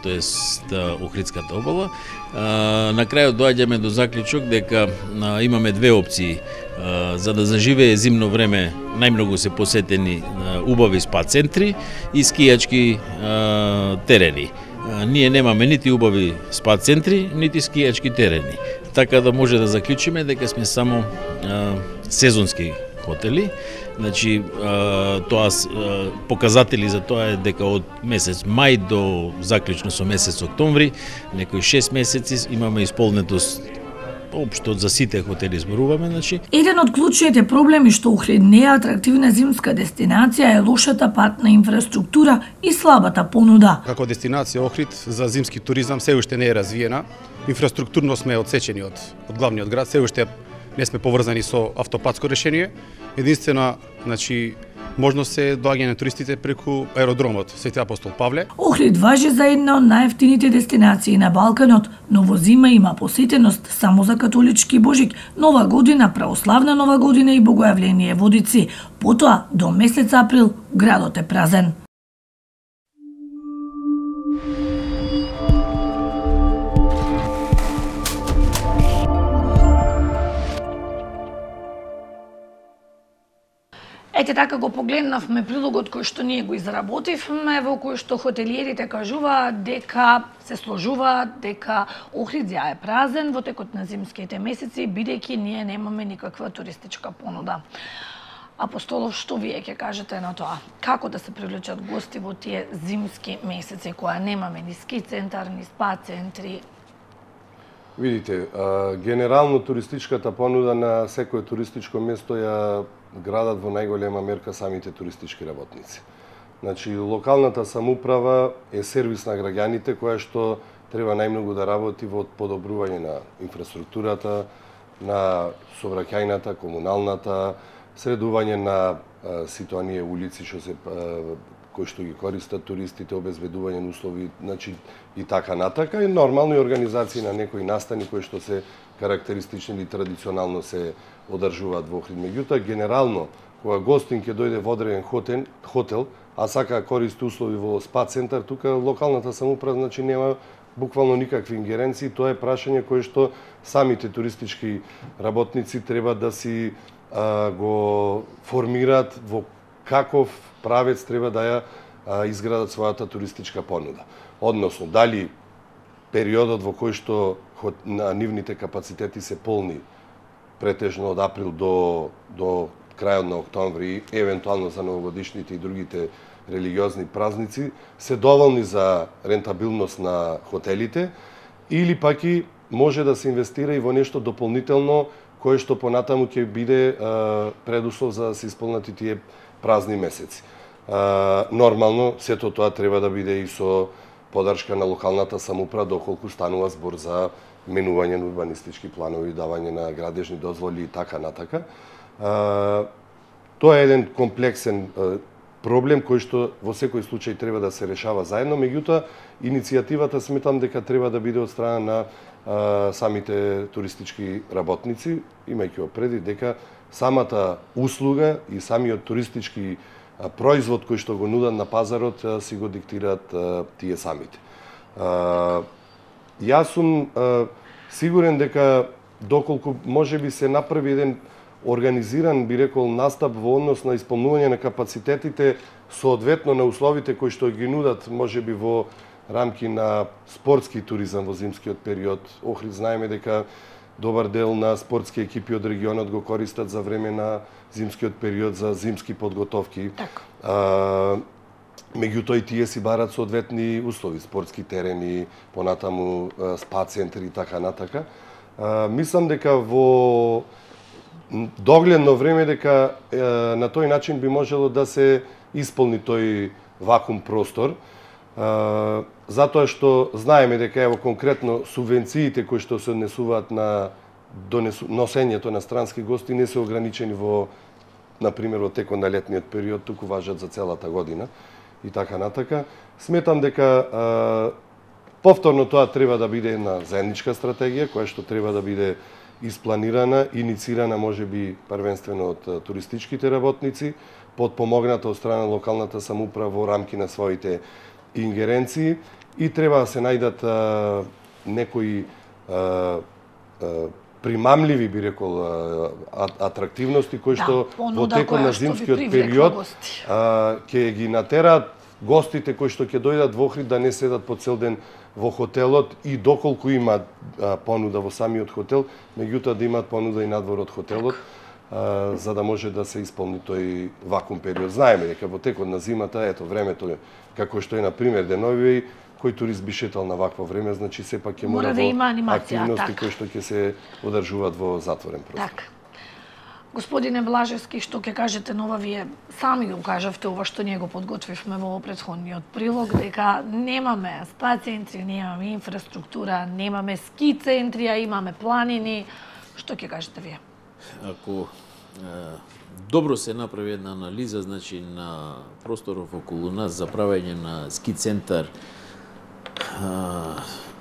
тоест Охридската обала. На крајот доаѓаме до заклучок дека имаме две опции. За да заживее зимно време најмногу се посетени убави спа центри и скијачки терени. Ние немаме нити убави спа центри, нити скијачки терени. Така да може да заклучиме дека сме само сезонски хотели. Значи, тоа показатели за тоа е дека од месец мај до заклучно со месец октомври, некои 6 месеци имаме исполнетост општо за сите хотели зборуваме, значи. Еден од клучните проблеми што Охрид не е атрактивна зимска дестинација е лошата патна инфраструктура и слабата понуда. Како дестинација Охрид за зимски туризам се уште не е развиена. Инфраструктурно сме одсечени од главниот град, се уште не сме поврзани со автопатско решение. Единствена, значи, можност се доаѓање на туристите преку аеродромот Свети Апостол Павле. Охрид важи за една од најевтините дестинации на Балканот, но во зима има посетеност само за католички Божик, Нова година, православна Нова година и Богојавление Водици. Потоа, до месец април, Градот е празен. Ете така го погледнавме прилогот кој што ние го изработивме, во кој што хотелиерите кажуваат дека се сложуваат дека Охридзја е празен во текот на зимските месеци, бидејќи ние немаме никаква туристичка понуда. Апостолов, што вие ќе кажете на тоа? Како да се привлечат гости во тие зимски месеци, која немаме ни ски центар, ни спа центри? Видите, генерално туристичката понуда на секое туристичко место ја градат во најголема мерка самите туристички работници. Значи, локалната самоуправа е сервис на граѓаните која што треба најмногу да работи во подобрување на инфраструктурата, на сообраќајната, комуналната, средување на сите оние улици што се кои што ги користат туристите, обезбедување на услови, значи и така натака, и нормални организации на некои настани кои што се карактеристични или традиционално се одржуваат во Охрид. Меѓутоа, генерално, кога гостин ќе дојде во одреден хотел, а сака користи услови во спа центар, тука локалната самоуправа значи нема буквално никакви ингеренции, тоа е прашање кое што самите туристички работници треба да си го формираат во каков правец треба да ја изградат својата туристичка понуда. Односно, дали периодот во кој што на нивните капацитети се полни претежно од април до крајот на октомври, евентуално за новогодишните и другите религиозни празници, се доволни за рентабилност на хотелите, или пак и може да се инвестира и во нешто дополнително кое што понатаму ќе биде предуслов за да се исполнат и тие празни месеци. Нормално, сето тоа треба да биде и со подршка на локалната самоуправа, доколку станува збор за менување на урбанистички планови, давање на градежни дозволи и така натака. Тоа е еден комплексен проблем кој што во секој случај треба да се решава заедно, меѓутоа иницијативата сметам дека треба да биде од страна на самите туристички работници, имајќи опреди дека самата услуга и самиот туристички производ кој што го нудат на пазарот си го диктираат тие самите. Јас сум сигурен дека доколку можеби се направи еден организиран, би рекол, настап во однос на исполнување на капацитетите соодветно на условите кои што ги нудат можеби во рамки на спортски туризам во зимскиот период. Охрид знаеме дека добар дел на спортски екипи од регионот го користат за време на зимскиот период за зимски подготовки. Меѓутоа и тие си барат соодветни услови, спортски терени, понатаму спа центри и така натака. Мислам дека во догледно време дека на тој начин би можело да се исполни тој вакуум простор, затоа што знаеме дека ево конкретно субвенциите кои што се однесуваат на носењето на странски гости не се ограничени во, например, во текот на летниот период, туку важат за целата година и така натака. Сметам дека повторно тоа треба да биде една заедничка стратегија која што треба да биде испланирана, инициирана можеби првенствено од туристичките работници, подпомогната од страна на локалната самоуправа во рамки на своите ингеренции и треба да се најдат некои примамливи, би рекол, атрактивности кои што во текот на зимскиот период ќе ги натераат гостите кои што ќе дојдат во Охрид да не седат по цел ден во хотелот и доколку има понуда во самиот хотел, меѓутоа да имаат понуда и надвор од хотелот, за да може да се исполни тој вакуум период. Знаеме дека во текот на зимата, ето времето како што е на пример денови, кој турист би шетал на вакво време, значи сепак ќе мора да има активности кои што ќе се одржуваат во затворен простор. Так. Господине Блажевски, што ќе кажете нова, вие сами го кажавте ова што ние го подготвивме во претходниот прилог, дека немаме спа центри, немаме инфраструктура, немаме ски центри, а имаме планини. Што ќе кажете вие? Ако добро се направи една анализа, значи на просторов околу нас за правење на ски центар,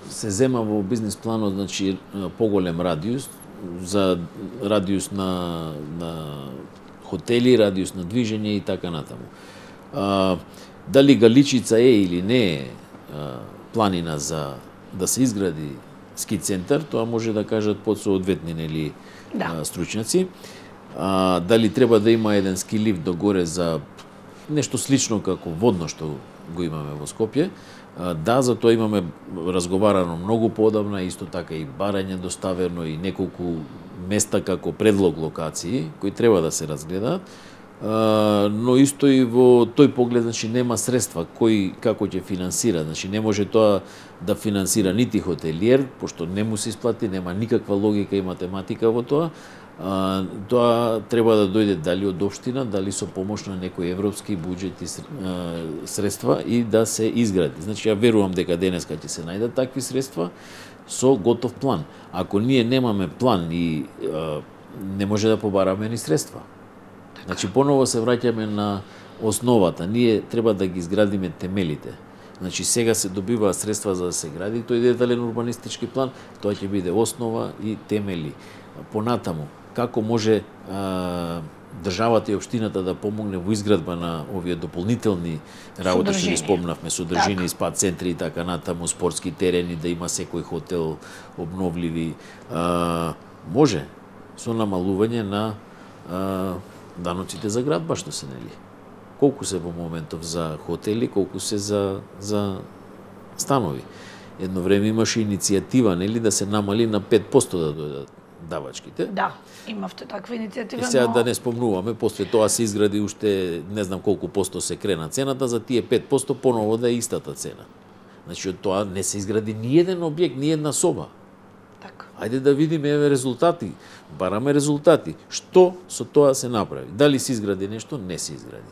се зема во бизнис планот, значи поголем радиус, за радиус на хотели, радиус на движење и така натаму. Дали Галичица е или не е планина за да се изгради ски центар, тоа може да кажат подсоодветни нели стручњаци. Дали треба да има еден ски лифт догоре за нешто слично како водно што го имаме во Скопје. Да, за тоа имаме разговарано многу поодамна, исто така и барање доставено и неколку места како предлог локации кои треба да се разгледаат. Но исто и во тој поглед, значи нема средства кој како ќе финансира, значи не може тоа да финансира нити хотелиер, пошто не му се исплати, нема никаква логика и математика во тоа. Тоа треба да дојде дали од општина, дали со помош на некој европски буџет и средства и да се изгради. Значи ја верувам дека денеска ќе се најдат такви средства со готов план. Ако ние немаме план и не може да побараме ни средства. Значи поново се враќаме на основата. Ние треба да ги изградиме темелите. Значи сега се добива средства за да се гради тој детален урбанистички план, тоа ќе биде основа и темели. Понатаму, како може државата и општината да помогне во изградба на овие дополнителни работи што ги спомнавме, содржини, спа центри и така натаму, спортски терени, да има секој хотел обновливи, може со намалување на даноците за градба што се нели. Колку се во моментов за хотели, колку се за станови. Едно време имаше иницијатива нели да се намали на 5% да дојдат давачките. Да, имавте таква иницијатива, сега да не спомнуваме, после тоа се изгради уште не знам колку посто се крена цената, за тие 5% поново да е истата цена. Значи од тоа не се изгради ни еден објект, ни една соба. Така. Ајде да видиме резултати, бараме резултати. Што со тоа се направи? Дали се изгради нешто? Не се изгради.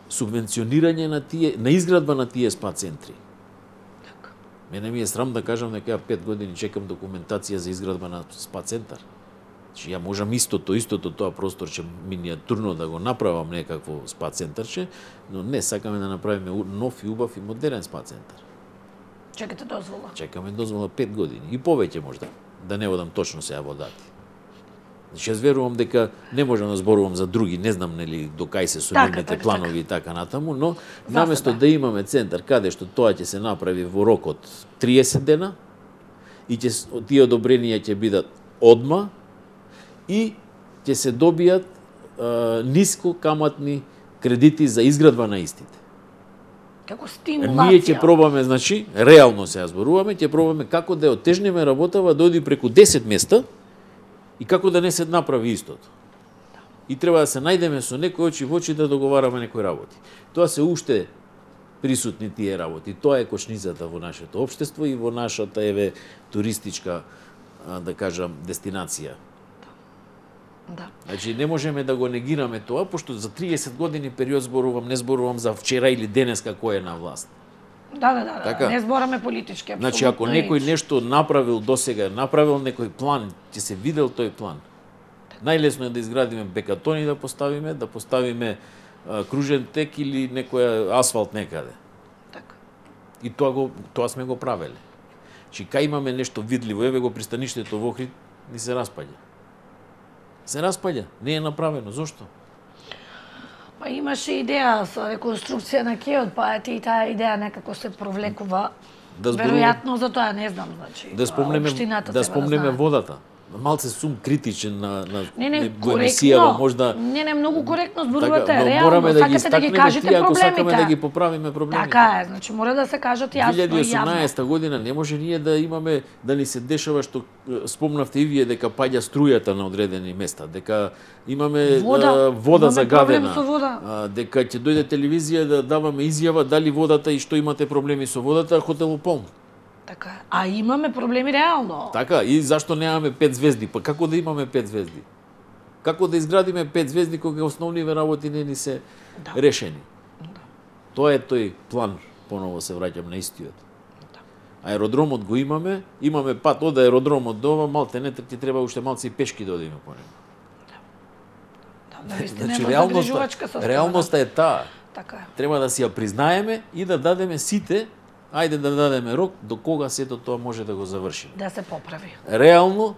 Субвенционирање на изградба на тие спа центри. Мене ми е срам да кажам дека 5 години чекам документација за изградба на спа центар. Значи ја можам истото тоа просторче миниатурно да го направам некакво спа центарче, но не сакаме да направиме нов и убав и модерен спа центар. Чекате дозвола? Чекаме дозвола 5 години и повеќе можда, да не одам точно сега во дати. Значи јас верувам дека не можам да зборувам за други, не знам нели до кај се нивните планови и така натаму, но наместо да имаме центар каде што тоа ќе се направи во рок од 30 дена и тие одобренија ќе бидат одма и ќе се добијат ниско каматни кредити за изградба на истите. Како стимулација. Ние ќе пробаме, значи, реално се зборуваме, ќе пробаме како да отежнеме работава да оди преку 10 места и како да не се направи истото. И треба да се најдеме со некој очи во очи да договараме некои работи. Тоа се уште присутни тие работи. Тоа е кочницата во нашето општество и во нашата туристичка, да кажам, дестинација. Да. Значи не можеме да го негираме тоа, пошто за 30 години период зборувам, не зборувам за вчера или денеска кој е на власт. Да. Така? Не збораме политички, апсолутно. Значи ако некој нешто направил досега, направил некој план, ќе се видел тој план. Најлесно е да изградиме бекатони да поставиме кружен тек или некој асфалт некаде. Така. И тоа сме го правеле. Значи кај имаме нешто видливо, еве го пристаништето во Охрид, ни се распаѓа. Се распаѓа, не е направено. Зошто? Па имаше идеја со реконструкција на кеот, па и таа идеја некако се провлекува. Веројатно за тоа не знам, значи. Да спомнеме водата. Малце сум критичен на емисијава, можда. Не, многу коректно зборувате, така, реално, сакате да ги кажете проблемите. Ако сакаме да ги поправиме проблемите. Така е, значи мора да се кажат јасно и јавно. 2018 година не може ние да имаме, да ни се дешава што спомнавте и вие дека паѓа струјата на одредени места, дека имаме вода загадена, дека ќе дојде телевизија да даваме изјава дали водата и што имате проблеми со водата, хотелот полн. Така, а имаме проблеми реално. Така, и зашто немаме 5 звезди? Па како да имаме 5 звезди? Како да изградиме 5 звезди кога основниве работи не ни се решени? Да. Тоа е тој план, поново се враќам на истиот. Да. Аеродромот го имаме пат од аеродромот до ова, малте не ти треба уште малце и пешки да одиме по него. Да, значи, реалноста е таа. Така е. Треба да си ја признаеме и да дадеме сите Ајде да дадеме рок до кога сето тоа може да го завршиме. Да се поправи. Реално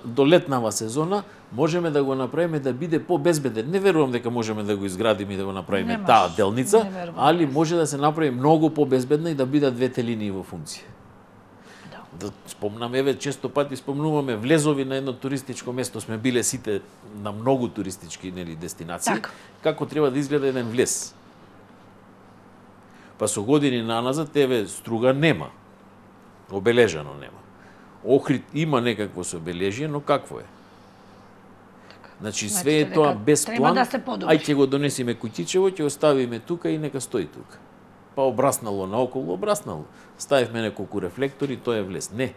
до летнава сезона можеме да го направиме да биде побезбеден. Не верувам дека можеме да го изградиме и да го направиме таа делница, али може да се направи многу побезбедна и да бидат двете линии во функција. Да спомнаме, често пати спомнуваме влезови на едно туристичко место, сме биле сите на многу туристички дестинации, како треба да изгледа еден влез. Па со години наназад, Струга нема, обележано нема. Охрид има некакво собележие, но какво е? Значи све е тоа без план, ај ќе го донесиме куќичево, ќе оставиме тука и нека стои тука. Па обраснало наоколу, обраснало. Ставивме неколку рефлектори, тоа е влез. Не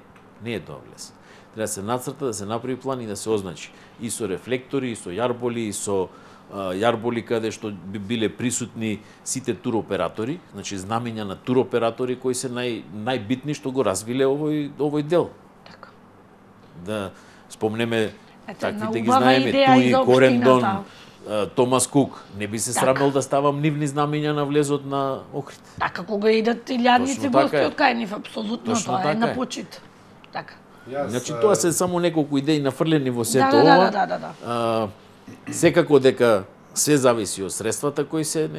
е тоа влез. Треба да се нацрта, да се направи план и да се означи. И со рефлектори, и со јарболи, и со јарболи каде што би биле присутни сите туроператори, значи знамења на туроператори кои се најбитни што го развиле овој дел. Така. Да спомнеме таквите ги знаеме, Туи, Корендон, Томас Кук. Не би се срамел да ставам нивни знамења на влезот на Охрид. Така, кога идат илјадници гости од кај нив, апсолутно тоа е на почит. Така. Значи тоа се само неколку идеи нафрлени во сето ова. Да. Секако дека се зависи од средствата кои се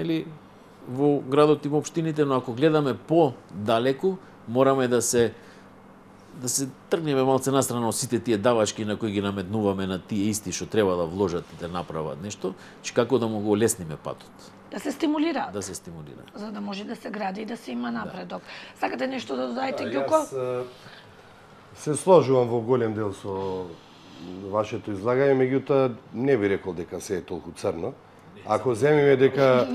во градот и во општините, но ако гледаме по-далеку, мораме да се тргнеме малце настрана од сите тие давачки на кои ги наметнуваме на тие исти што треба да вложат и да направат нешто, че како да му го лесниме патот. Да се стимулира. Да се стимулира. За да може да се гради и да се има напредок. Сакате нешто да додаете, Ѓуко? Се сложувам во голем дел со вашето излагање, меѓутоа не би рекол дека се е толку црно. Ако земиме дека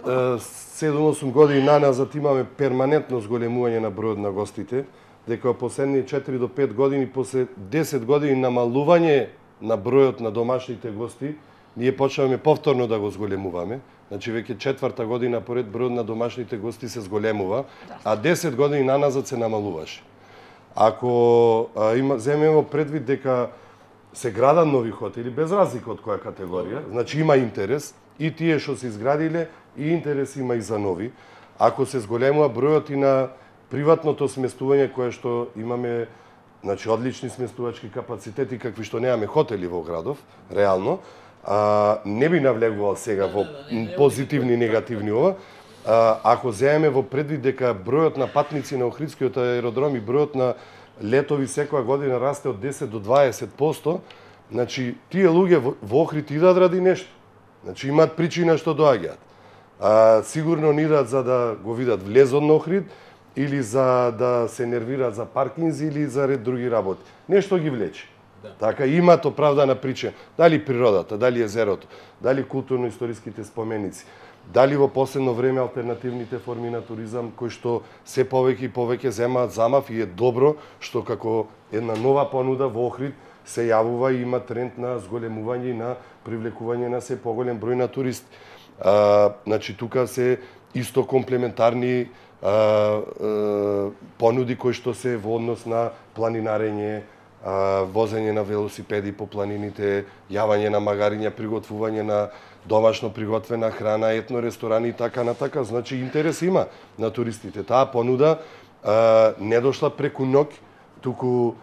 7-8 години наназад имаме перманентно зголемување на бројот на гостите, дека последни 4 до 5 години, после 10 години намалување на бројот на домашните гости, ние почнаваме повторно да го зголемуваме. Значи веќе 4-та година поред бројот на домашните гости се зголемува, а 10 години наназад се намалуваше. Ако земеме во предвид дека се градат нови хотели, без разлика од која категорија, значи има интерес, и тие што се изградиле, и интерес има и за нови. Ако се зголемува бројот и на приватното сместување, кое што имаме, значи одлични сместувачки капацитети, какви што немаме хотели во градов, реално, не би навлегувал сега во позитивни и негативни ова. Ако земеме во предвид дека бројот на патници на Охридскиот аеродром и бројот на летови секоја година расте од 10 до 20%, значи тие луѓе во Охрид идат ради нешто. Значи имаат причина што доаѓаат. Сигурно не идат за да го видат влезот на Охрид, или за да се нервираат за паркинзи, или за ред други работи. Нешто ги влече. Така, имаат оправдана причина. Дали природата, дали езерото, дали културно-историските споменици, дали во последно време алтернативните форми на туризам, кои што се повеќе и повеќе земаат замав, и е добро што како една нова понуда во Охрид се јавува и има тренд на зголемување и на привлекување на се поголем број на туристи. Значи, тука се исто комплементарни понуди кои што се во однос на планинарење, возење на велосипеди по планините, јавање на магариња, приготвување на домашно приготвена храна, етно ресторани и така натака. Значи интерес има на туристите. Таа понуда не дошла преку ноќ, туку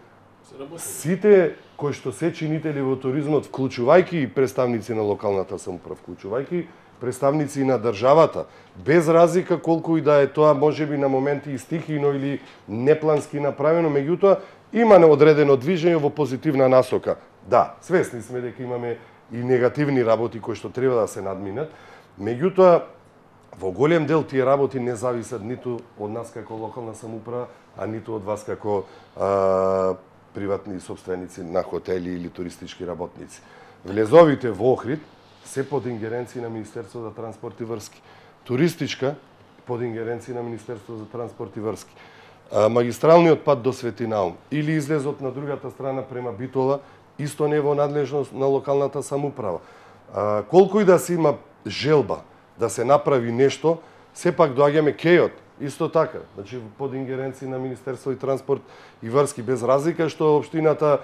сите кои што се чинители во туризмот, вклучувајќи и представници на локалната самоуправа, вклучувајќи представници на државата, без разлика колку и да е тоа можеби на моменти и стихино или неплански направено, меѓутоа има неодредено движење во позитивна насока. Да, свесни сме дека имаме и негативни работи кои што треба да се надминат, меѓутоа во голем дел тие работи не зависат ниту од нас како локална самоуправа, а ниту од вас како приватни собственици на хотели или туристички работници. Влезовите во Охрид се под ингеренција на Министерството за транспорт и врски. Туристичка под ингеренција на Министерството за транспорт и врски. Магистралниот пат до Свети Наум или излезот на другата страна према Битола исто не во надлежност на локалната самоуправа. Колку и да се има желба да се направи нешто, сепак доаѓаме кејот, исто така. Значи под ингеренција на Министерство и транспорт и врски, без разлика што општината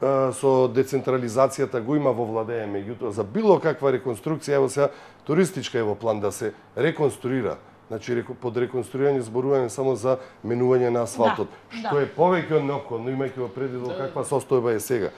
со децентрализацијата го има во владење, меѓутоа за било каква реконструкција, ево сега туристичка е во план да се реконструира Значи под реконструирање зборуваме само за менување на асфалтот, што е повеќе од неопходно, имајќи во предвид во каква состојба е сега.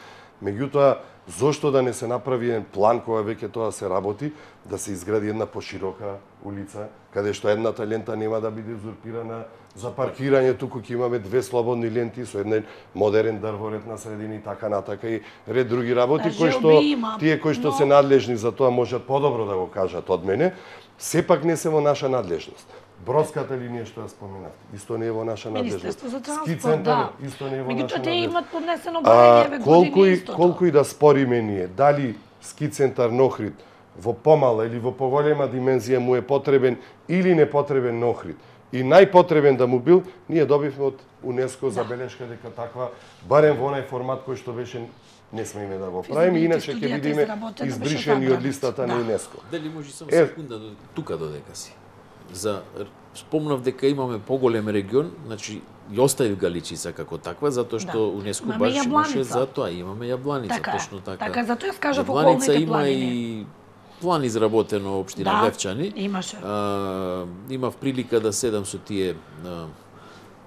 Меѓутоа, зошто да не се направи еден план кога веќе тоа се работи, да се изгради една поширока улица, каде што едната лента нема да биде узурпирана за паркирање, туку ќе имаме две слободни ленти со еден модерен дрворед на средини, така натака и ред други работи, кои што тие кои што се надлежни за тоа можат подобро да го кажат од мене, сепак не се во наша надлежност. Бродската линија што ја споменав, исто не е во наша надлежност. Ски центар исто не е во наша надлежност. Меѓутоа тие имат поднесено барање години истото. Колку и да спориме ние, дали ски центар на Охрид во помала или во поголема димензија му е потребен или не потребен на Охрид, и најпотребен да му бил, ние добивме од УНЕСКО забелешка дека таква, барем во онај формат кој што беше, не смееме да го правиме, иначе ќе бидеме избришени од листата на ЮНЕСКО. Дали може само секунда тука додека си? Спомнав дека имаме поголем регион, значи ја оставив Галичица како таква, затоа што УНЕСКО баш имаше за тоа, имаме Јабланица, точно така. Така, затоа ја скажав околните планини. Има и план изработено општина Левчани. Имаше. Имав прилика да седам со тие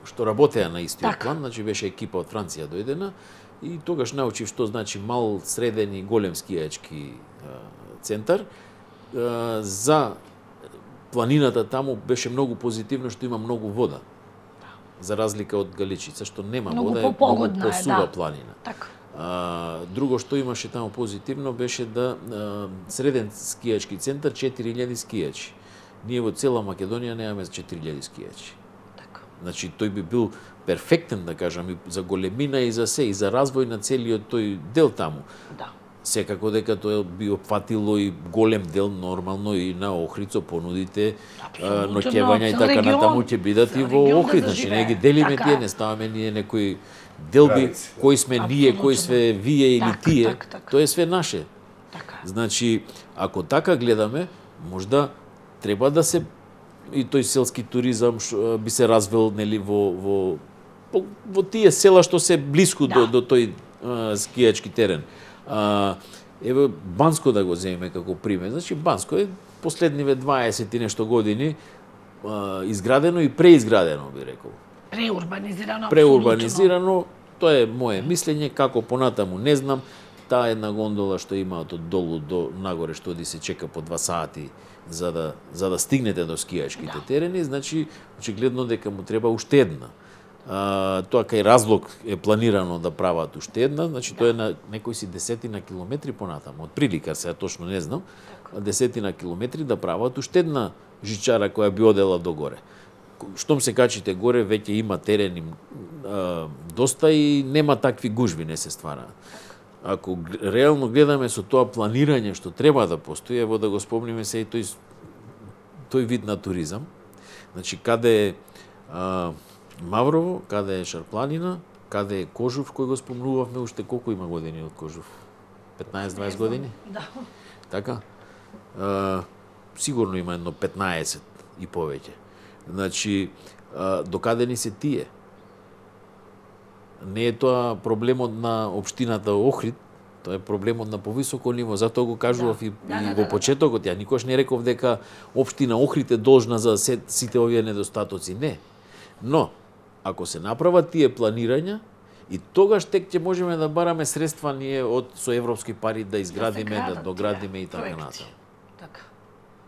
што работеа на истиот план, значи беше екипа од Франција дојдена и тогаш научив што значи мал, среден и голем скијачки центар. За планината таму беше многу позитивно што има многу вода. За разлика од Галичица што нема вода, е многу посува планина. Така. Друго што имаше таму позитивно беше да среден скијачки центар 4000 скијачи. Ние во цела Македонија немаме 4000 скијачи. Така. Значи тој би бил перфектен, да кажам, и за големина и за се, и за развој на целиот тој дел таму. Да. Секако дека тоа би опфатило и голем дел нормално и на Охрид со понудите, ноќевања и така натаму ќе бидат и во Охрид, значи не ги делиме тие, не ставаме ние некои делби, кои сме ние, кои сме вие или тие, тоа е све наше. Значи, ако така гледаме, можда треба да се и тој селски туризам би се развил нели во тие села што се блиску до тој скијачки терен. Еве Банско да го земеме како пример. Значи Банско е последниве 20 и нешто години изградено и преизградено, би рекол. Преурбанизирано. Преурбанизирано, тоа е моје мислење, како понатаму не знам. Таа една гондола што имаат од долу до нагоре што оди се чека по 2 сати за да стигнете до скијачките терени, значи очигледно дека му треба уште една. Тоа кај Разлог е планирано да прават уште една, значи тоа е на некои си десетина километри понатаму, од прилика сега точно не знам, десетина километри да прават уште една жичара која би одела до горе. Штом се качите горе, веќе има терени доста и нема такви гужви не се ствараат. Ако реално гледаме со тоа планирање што треба да постои, ево да го спомниме се и тој вид на туризам, значи каде е Маврово, каде е Шарпланина, каде е Кожув, кој го спомнувавме уште колку има години од Кожув? 15-20 години? Да. Така? Сигурно има едно 15 и повеќе. Значи, докаде ни се тие? Не е тоа проблемот на општината Охрид, тоа е проблемот на повисоко ниво, затоа го кажував и во почетокот, ја никош не реков дека општина Охрид е должна за сите овие недостатоци, не. Но, ако се направат тие планирања, и тогаш тек ќе можеме да бараме средства ние со европски пари да изградиме, да доградиме и така натаму. Така.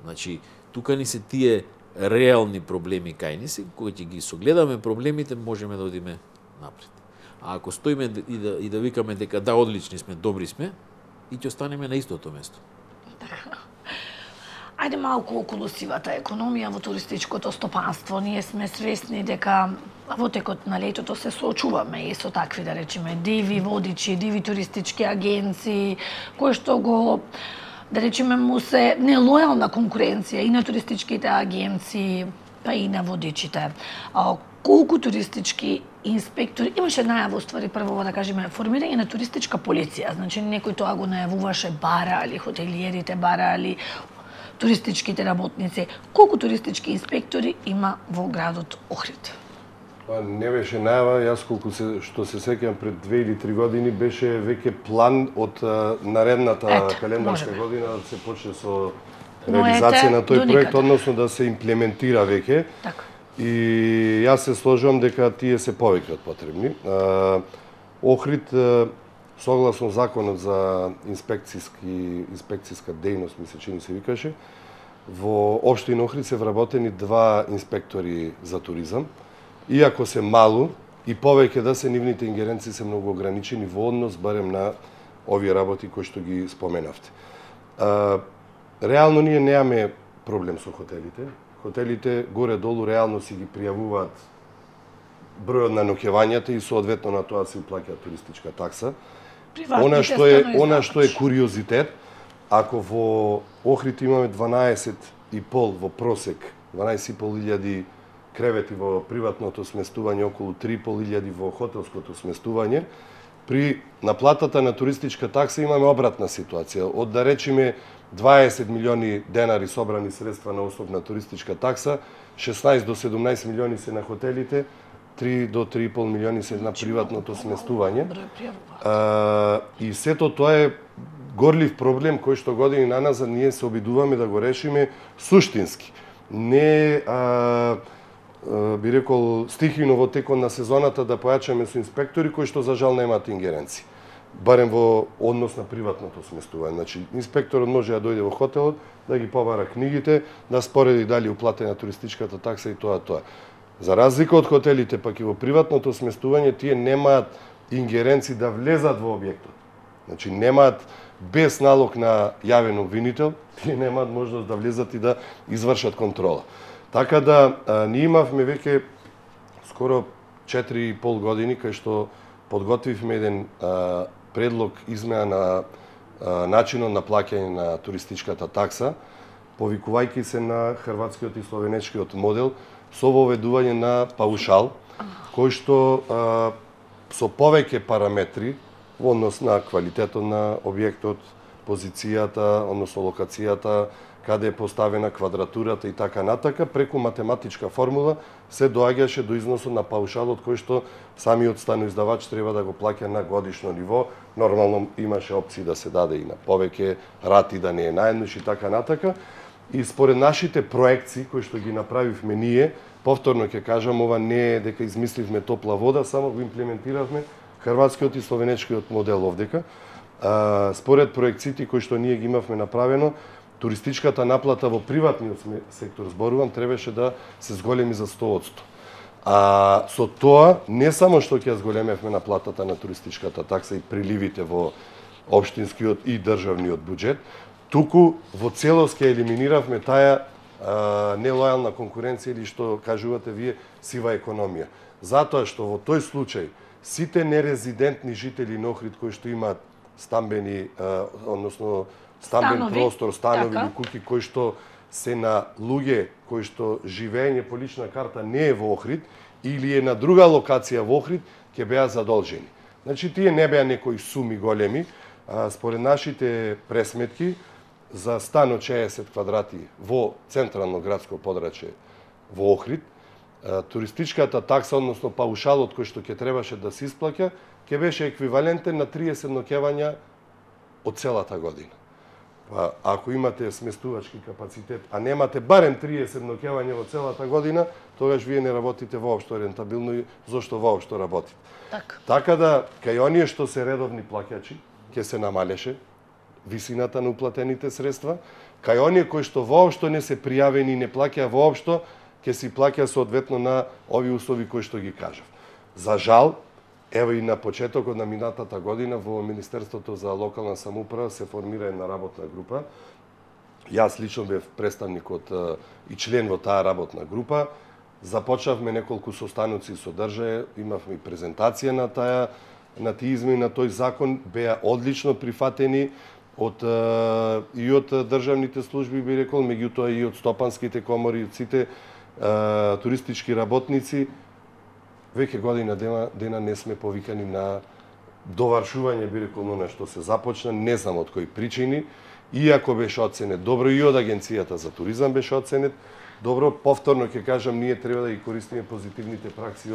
Значи, тука ни се тие реални проблеми кај ни се, кога ќе ги согледаме проблемите, можеме да одиме напред. А ако стоиме и да викаме дека да, одлични сме, добри сме, и ќе останеме на истото место. Така. Ајде малку околу сивата економија во туристичкото стопанство. Ние сме свесни дека во текот на летото се соочуваме и со такви, да речеме, диви водичи, диви туристички агенции, кои што го, да речеме, му се нелојална конкуренција и на туристичките агенции, па и на водичите. Колку туристички инспектори, имаше најава, ствари, прво да кажеме, формирање на туристичка полиција, значи некој тоа го најавуваше, барали, хотелиерите барали, туристичките работници. Колку туристички инспектори има во градот Охрид? Не беше најава, јас колку што се сеќам пред 2 или 3 години беше веќе план од наредната календарска година да се почне со реализација на тој проект, односно да се имплементира веќе. Така. И јас се сложувам дека тие се повеќе од потребни. Охрид, согласно законот за инспекциска дејност, ми се чини се викаше, во општина Охрид се вработени 2 инспектори за туризам. Иако се малу и повеќе да се, нивните ингеренции се многу ограничени во однос барем на овие работи кои што ги споменавте. Реално ние немаме проблем со хотелите. Хотелите горе-долу реално си ги пријавуваат бројот на ноќевањата и соодветно на тоа се уплаќа туристичка такса. Она што е куриозитет, ако во Охрид имаме 12,5 во просек, 12.500 кревети во приватното сместување, околу 3.500 во хотелското сместување, при наплатата на туристичка такса имаме обратна ситуација. Од да речеме 20 милиони денари собрани средства на основ на туристичка такса, 16 до 17 милиони се на хотелите, 3 до 3,5 милиони се на приватното сместување. И сето тоа е горлив проблем кој што години наназад ние се обидуваме да го решиме суштински. Не би рекол стихино во текот на сезоната да појачаме со инспектори кои што за жал немаат ингеренции. Барем во однос на приватното сместување. Значи, инспекторот може да дојде во хотелот, да ги побара книгите, да спореди дали уплатена туристичката такса и тоа. За разлика од хотелите, пак и во приватното сместување, тие немаат ингеренции да влезат во објектот. Значи, немаат без налог на јавен обвинител, тие немаат можност да влезат и да извршат контрола. Така да, ние имавме веќе скоро 4,5 години кај што подготвивме еден предлог измена на начинот на плаќање на туристичката такса, повикувајќи се на хрватскиот и словенечкиот модел, со воведување на паушал, кој што со повеќе параметри во однос на квалитетот на објектот, позицијата, односно локацијата, каде е поставена квадратурата и така натака, преку математичка формула се доаѓаше до износот на паушалот кој што самиот станоиздавач треба да го плаќа на годишно ниво. Нормално имаше опции да се даде и на повеќе рати, да не е наеднаш и така натака. И според нашите проекции кои што ги направивме ние, повторно ќе кажам, ова не е дека измисливме топла вода, само го имплементиравме хрватскиот и словенечкиот модел овдека. Според проекциите кои што ние ги имавме направено, туристичката наплата во приватниот сектор, зборувам, требаше да се зголеми за 100%. Со тоа, не само што ќе зголемевме наплатата на туристичката такса и приливите во општинскиот и државниот буџет, туку во целост ќе елиминиравме таа нелојална конкуренција или што кажувате вие сива економија. Затоа што во тој случај сите нерезидентни жители на Охрид кои што имаат стамбени, односно стамбен простор, станови или куќи кои што се на луѓе кои што живеење по лична карта не е во Охрид или е на друга локација во Охрид, ќе беа задолжени. Значи тие не беа некои суми големи, според нашите пресметки за стан од 60 квадрати во централно градско подрачје во Охрид, туристичката такса, односно паушалот кој што ќе требаше да се исплаќа, ќе беше еквивалентен на 30 ноќевања од целата година. Ако имате сместувачки капацитет, а немате барем 30 ноќевања во целата година, тогаш вие не работите воопшто рентабилно и зошто воопшто работите. Така да, кај оние што се редовни плаќачи, ќе се намалеше висината на уплатените средства, кај оние кои што воопшто не се пријавени и не плаќаа воопшто, ќе си плаќа соодветно на овие услови кои што ги кажав. За жал, ево и на почетокот на минатата година во Министерството за локална самоуправа се формира една работна група. Јас лично бев представникот и член во таа работна група. Започнавме неколку состаноци со држава, имавме и презентација на тие измени на тој закон, беа одлично прифатени и од државните служби, би рекол, меѓутоа и од стопанските комори, од сите туристички работници. Веќе година дена не сме повикани на довршување, би рекол, на што се започна, не знам од кои причини, иако беше оценет добро и од Агенцијата за туризам беше оценет добро. Повторно ќе кажам, ние треба да ги користиме позитивните пракси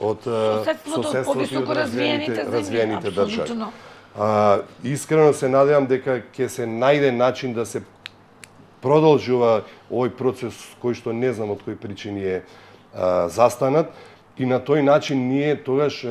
од соседството и од развиените држави. Искрено се надевам дека ќе се најде начин да се продолжува овој процес кој што не знам од кои причини е застанат. И на тој начин ние тогаш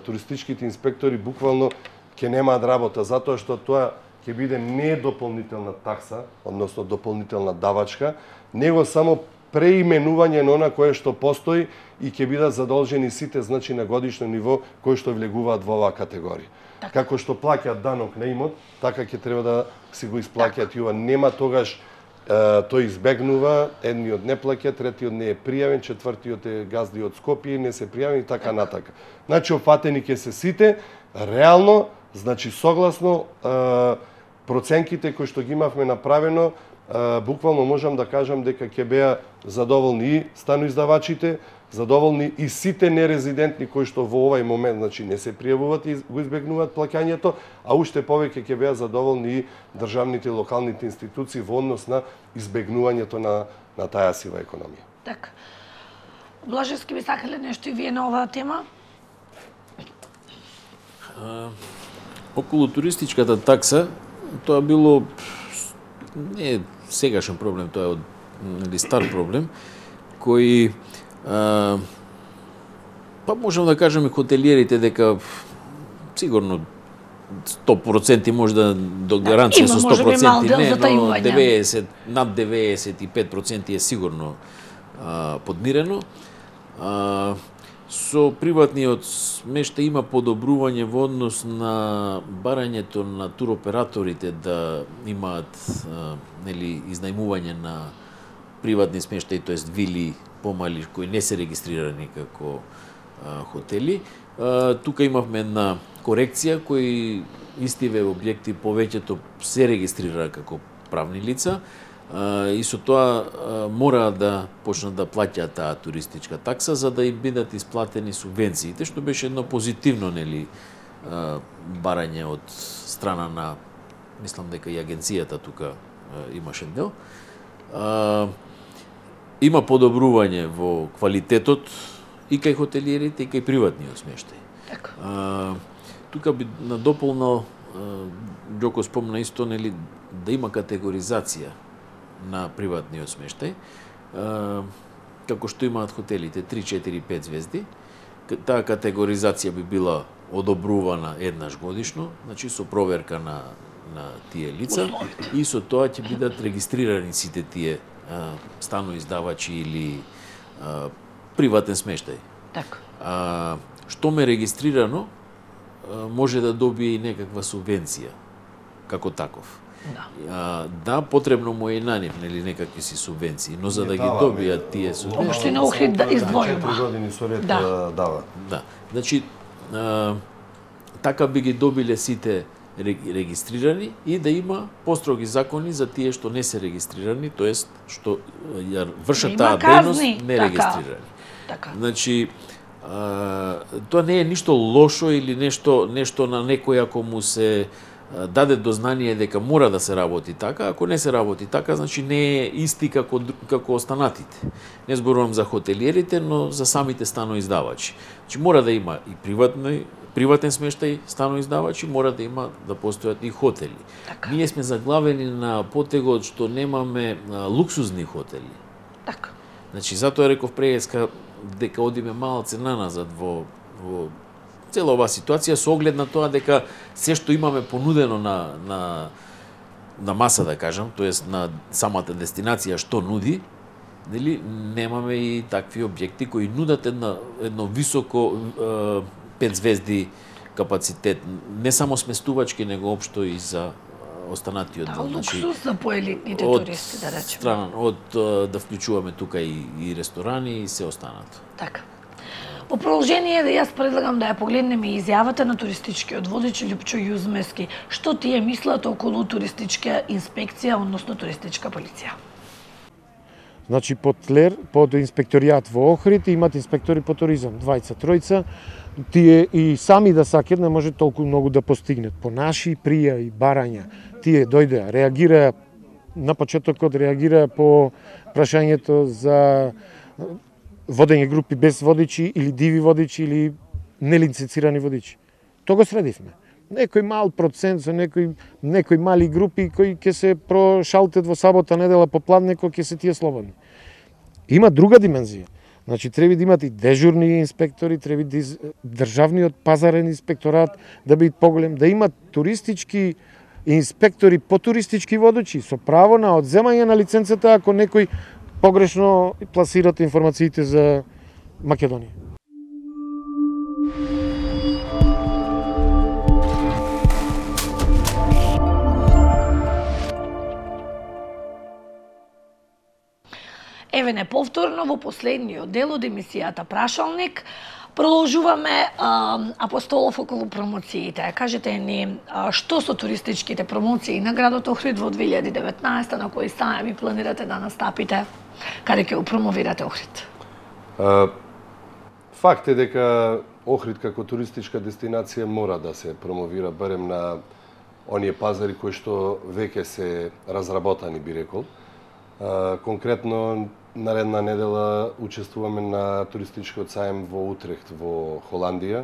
туристичките инспектори буквално ќе немаат работа, затоа што тоа ќе биде не дополнителна такса, односно дополнителна давачка, него само преименување на она кое што постои и ќе бидат задолжени сите, значи на годишно ниво, кои што влегуваат во оваа категорија. Како што плаќаат данок на имот, така ќе треба да си го исплаќаат и ова. Нема тогаш тој избегнува, едниот не плаќа, третиот не е пријавен, четвртиот е газди од Скопје, не се пријавен и така натака. Значи опфатени ќе се сите, реално, значи согласно проценките кои што ги имавме направено, буквално можам да кажам дека ќе беа задоволни и станоиздавачите, задоволни и сите нерезидентни кои што во овај момент значи не се пријавуваат и го избегнуваат плаќањето, а уште повеќе ќе беа задоволни и државните и локалните институции во однос на избегнувањето на таа сива економија. Така. Блажевски, би сакале нешто и вие на оваа тема? Околу туристичката такса, тоа било не е сегашен проблем, тоа е од стар проблем, кој па можам да кажам и хотелиерите дека сигурно 100% може да до гаранција со 100% не, но 90, над 95% е сигурно подмирено. Со приватниот смештај има подобрување во однос на барањето на туроператорите да имаат нели изнајмување на приватни смештаи, тоест вили помали кои не се регистрирани како хотели. Тука имавме една корекција кои истиве објекти повеќето се регистрира како правни лица и со тоа мора да почнат да плаќаат таа туристичка такса за да им бидат исплатени субвенциите, што беше едно позитивно нели барање од страна на, мислам дека и агенцијата тука имаше дел. Има подобрување во квалитетот и кај хотелиерите и кај приватниот смештај. Тука би надополнал, Ѓоко спомна исто, нели, да има категоризација на приватниот смештај, како што имаат хотелите 3, 4, 5 звезди. Таа категоризација би била одобрувана еднаш годишно, значи со проверка на тие лица и со тоа ќе бидат регистрирани сите тие станоиздавачи или приватен смештај. Така. Што ме регистрирано, може да добие и некаква субвенција, како таков. Да, потребно му е и на нив, нели, некакви си субвенции, но за да ги добијат тие субвенции... Општина Охрид да издвојува. 4 години со ред дава. Да, значи, така би ги добиле сите регистрирани и да има построги закони за тие што не се регистрирани, тоест што ја вршат таа дејност не регистрирани. Така. Значи, тоа не е ништо лошо или нешто на некој ако му се даде до знание дека мора да се работи така, ако не се работи така, значи не е исти како останатите. Не зборувам за хотелиерите, но за самите станоиздавачи. Значи мора да има и приватен смештај станоиздавачи, мора да има да постојат и хотели. Така. Ние сме заглавени на потегот што немаме луксузни хотели. Така. Значи затоа реков преска дека одиме малце наназад во цела оваа ситуација со оглед на тоа дека се што имаме понудено на маса, да кажам, тоест на самата дестинација што нуди, нели, немаме и такви објекти кои нудат едно високо 5 звезди капацитет, не само сместувачки, него општо и за останатиот дел. Луксус за поелитните туристи, да речеме. Да вклучуваме тука и ресторани и се останато. Така. Во продолжение, да јас предлагам да ја погледнеме изјавата на туристичкиот водич Љупчо Јузмески. Што тие мислат околу туристичка инспекција, односно туристичка полиција? Значи, под инспекторијат во Охрид имат инспектори по туризам, 2-3. Тие и сами да сакат не може толку многу да постигнат. По наши пријави, барања, тие дојдеа, реагираа, на почетокот реагираа по прашањето за водење групи без водичи или диви водичи или нелиценцирани водичи. Тоа го средивме. некој мал процент со некои мали групи кои ќе се прошалтат во сабота, недела попладне кога ќе се тие слободни. Има друга димензија. Значи треба да имат и дежурни инспектори, треба да државниот пазарен инспекторат да биде поголем, да имат туристички инспектори по туристички водачи со право на одземање на лиценцата ако некој погрешно пласират информациите за Македонија. Еве не повторно во последниот дел од емисијата Прашалник продолжуваме Апостолов околу промоциите. Кажете ни што со туристичките промоции на градот Охрид во 2019, на кои сајми планирате да настапите, каде ќе го промовирате Охрид? Факт е дека Охрид како туристичка дестинација мора да се промовира барем на оние пазари кои што веќе се разработани, би рекол. Конкретно наредна недела учествуваме на туристичкиот сајм во Утрехт во Холандија,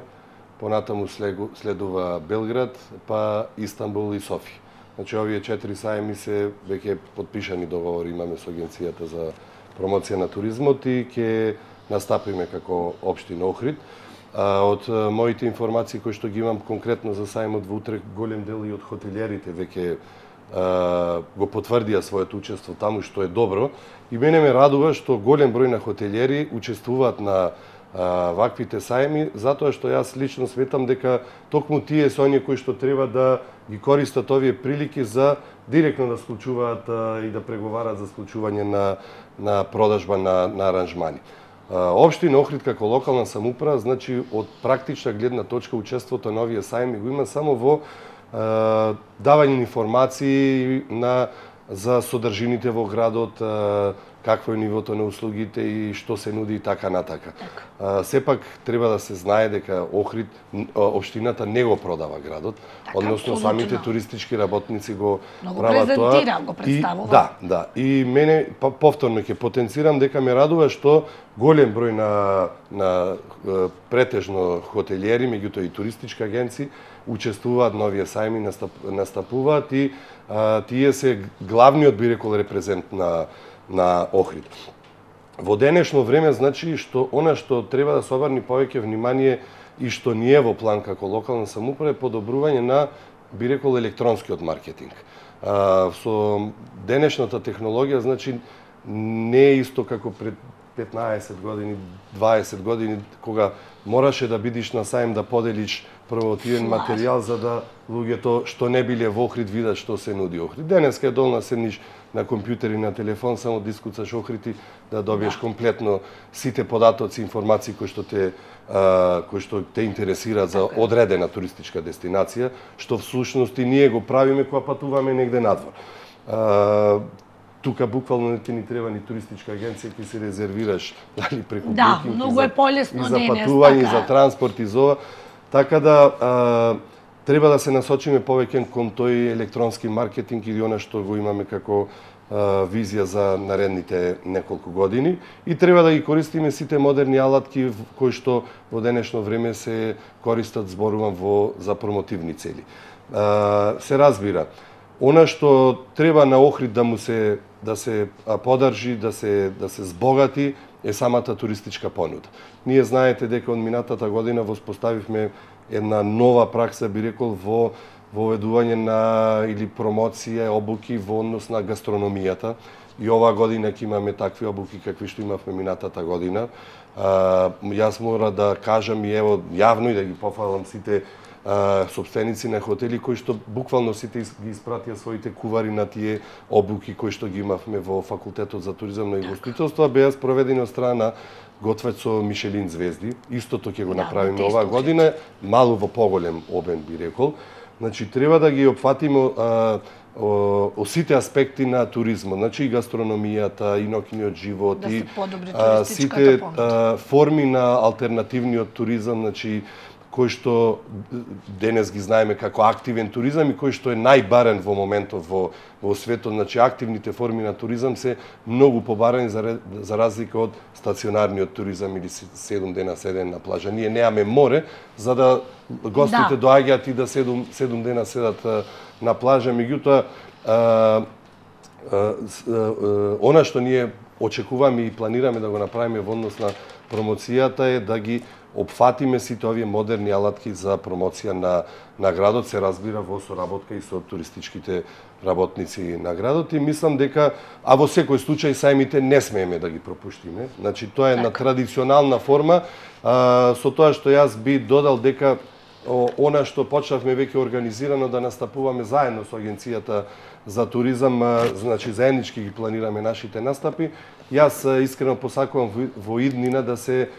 понатаму следува Белград, па Истанбул и Софија. Значи овие 4 сајми се веќе потпишани договори имаме со Агенцијата за промоција на туризмот и ќе настапиме како општина Охрид. Од моите информации кои што ги имам конкретно за сајмот во Утрехт, голем дел и од хотелиерите веќе го потврдија своето учество таму, што е добро. И мене ме радува што голем број на хотелиери учествуваат на ваквите сајми, затоа што јас лично сметам дека токму тие се оние кои што треба да ги користат овие прилики за директно да склучуваат и да преговарат за склучување на продажба на аранжмани. Општина Охрид како локална самоуправа, значи од практична гледна точка учеството на овие сајми го има само во давање информации за содржините во градот, какво е нивото на услугите и што се нуди и така натака. Сепак треба да се знае дека Охрид, општината не го продава градот, односно самите туристички работници го прават тоа. Го представува. Да. И мене повторно ќе потенцирам дека ме радува што голем број на претежно хотелиери, меѓутоа и туристички агенции учествуваат на овие сајми, настапуваат и тие се главниот, би рекол, репрезент на Охрид. Во денешно време, значи, она што треба да се обрни повеќе внимание и што ни е во план како локална самоуправа е подобрување на, би рекол, електронскиот маркетинг. Со денешната технологија, значи, не е исто како пред 15 години, 20 години, кога мораше да бидиш на сајм да поделиш промотивен материјал за да луѓето што не биле во Охрид видат што се нуди Охрид. Денеска е долна седниш на компјутер и на телефон, само дискуцаш Охрид и да добиеш комплетно сите податоци, информации кои што те интересираат за одредена туристичка дестинација, што всушност и ние го правиме кога патуваме негде надвор. Тука буквално не ти ни треба ни туристичка агенција, ќе се резервираш дали преку Booking, многу е полесно за патување, за транспорт и за ова. Така да треба да се насочиме повеќе кон тој електронски маркетинг или она што го имаме како визија за наредните неколку години и треба да ги користиме сите модерни алатки кои што во денешно време се користат, зборувам, за промотивни цели. Се разбира, она што треба на Охрид да се подржи, да се збогати е самата туристичка понуда. Ние знаете дека од минатата година воспоставивме една нова пракса, би рекол, во воведување на или промоција, обуки во однос на гастрономијата. И оваа година ќе имаме такви обуки какви што имавме минатата година. Јас мора да кажам и ево јавно и да ги пофалам сите собственици на хотели кои што буквално сите ги испратија своите кувари на тие обуки кои што ги имавме во Факултетот за туризам и гостителство, беа спроведени од страна на готвец со Мишелин звезди. Истото ќе го направиме оваа година, малку во поголем обем, би рекол. Значи треба да ги опфатиме сите аспекти на туризмот, значи и гастрономијата, и ноќниот живот, и сите форми на алтернативниот туризам, значи кој што денес ги знаеме како активен туризам и кој што е најбарен во моментов во светот. Значи, активните форми на туризам се многу побарени за разлика од стационарниот туризам или 7 дена седен на плажа. Ние немаме море, за да гостите доаѓаат и да 7 дена седат на плажа. Меѓутоа, она што ние очекуваме и планираме да го направиме во однос на промоцијата е да ги опфатиме сите овие модерни алатки за промоција на градот, се разбира во соработка и со туристичките работници на градот, и мислам дека, а во секој случај сајмите не смееме да ги пропуштиме. Значи, тоа е на традиционална форма, со тоа што јас би додал дека она што почнавме веќе организирано да настапуваме заедно со Агенцијата за туризам, значи заеднички ги планираме нашите настапи. Јас искрено посакувам во иднина да се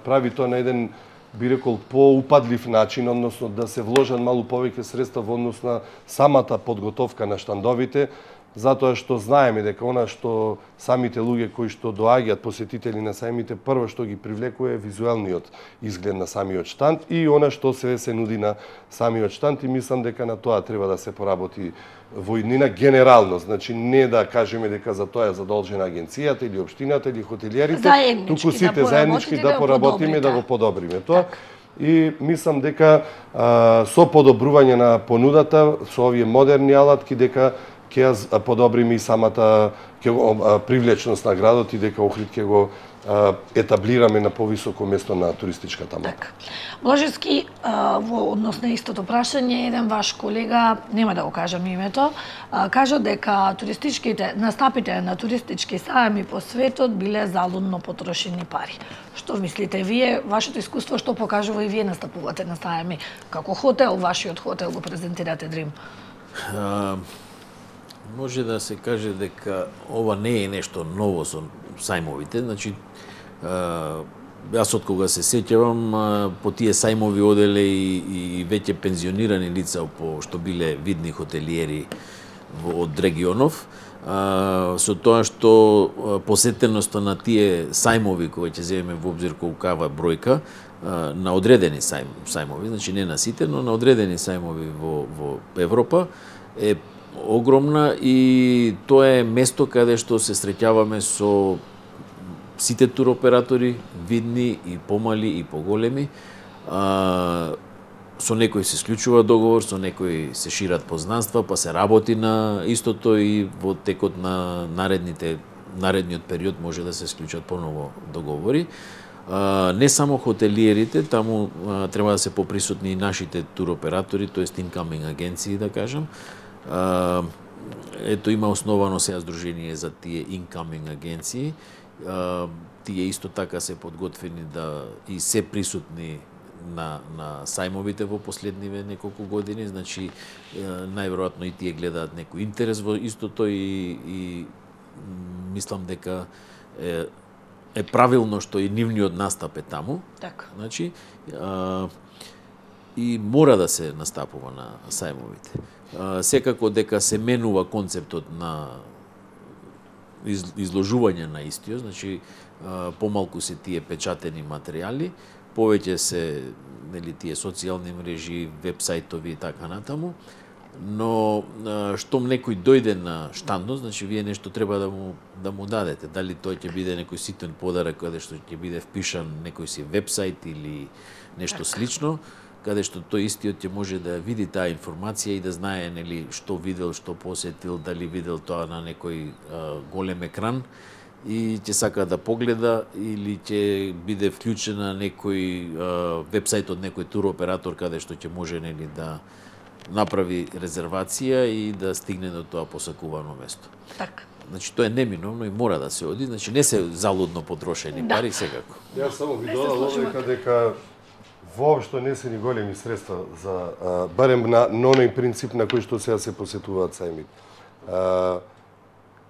прави тоа на еден, би рекол, поупадлив начин, односно да се вложат малку повеќе средства во однос на самата подготовка на штандовите, затоа што знаеме дека она што самите луѓе кои што доаѓаат посетители на сајмите, прво што ги привлекува е визуелниот изглед на самиот штанд и она што се нуди на самиот штанд, и мислам дека на тоа треба да се поработи во иднина генерално. Значи, не да кажеме дека за тоа е задолжена агенцијата или општината или хотелиерите, туку сите заеднички да поработиме да го подобриме тоа. И мислам дека со подобрување на понудата, со овие модерни алатки, дека ќе ја подобриме и самата привлечност на градот и дека Охрид ќе го етаблираме на повисоко место на туристичката мапа. Така. Блажевски, во однос на истото прашање, еден ваш колега, нема да го кажам името, кажа дека туристичките настапите на туристички сајми по светот биле залудно потрошени пари. Што мислите вие, вашето искуство што покажува и вие настапувате на сајми? Како хотел, вашиот хотел го презентирате Дрим? Може да се каже дека ова не е нешто ново со сајмовите. Значи, јас од кога се сеќавам, по тие сајмови оделе и веќе пензионирани лица што биле видни хотелиери од регионов, со тоа што посетеноста на тие сајмови, кои ќе земеме во обзир колкава бројка, на одредени сајмови, значи не на сите, но на одредени сајмови во Европа, е огромна, и тоа е место каде што се среќаваме со сите туроператори, видни и помали и поголеми. Со некои се склучува договор, со некои се шират познанства, па се работи на истото, и во текот на наредниот период може да се склучат поново договори. Не само хотелиерите, таму треба да се поприсутни и нашите туроператори, тоест incoming агенции, да кажам. Ето, има основано сега здружение за тие incoming агенции. Тие исто така се подготвени и се присутни на сајмовите во последниве неколку години, значи најверојатно и тие гледаат некој интерес во истото, и мислам дека е правилно што и нивниот настап е таму. Така. Значи, и мора да се настапува на сајмовите. Секако дека се менува концептот на изложување на истиот, значи помалку се тие печатени материјали, повеќе се тие социјални мрежи, вебсајтови и така натаму, но штом некој дојде на штандот, значи вие нешто треба да му дадете. Дали тој ќе биде некој ситен подарок каде што ќе биде впишан некој си вебсајт или нешто слично, каде што тој истиот ќе може да види таа информација и да знае што видел, што посетил, дали видел тоа на некој голем екран и ќе сака да погледа, или ќе биде вклучена некој вебсајт од некој туроператор каде што ќе може да направи резервација и да стигне до тоа посакувано место. Така. Значи, тоа е неминовно и мора да се оди, значи не се залудно потрошени пари секако. Јас само ви додал дека воопшто не се ни големи средства за барем на оној принцип на кој што сега се посетуваат сајмите.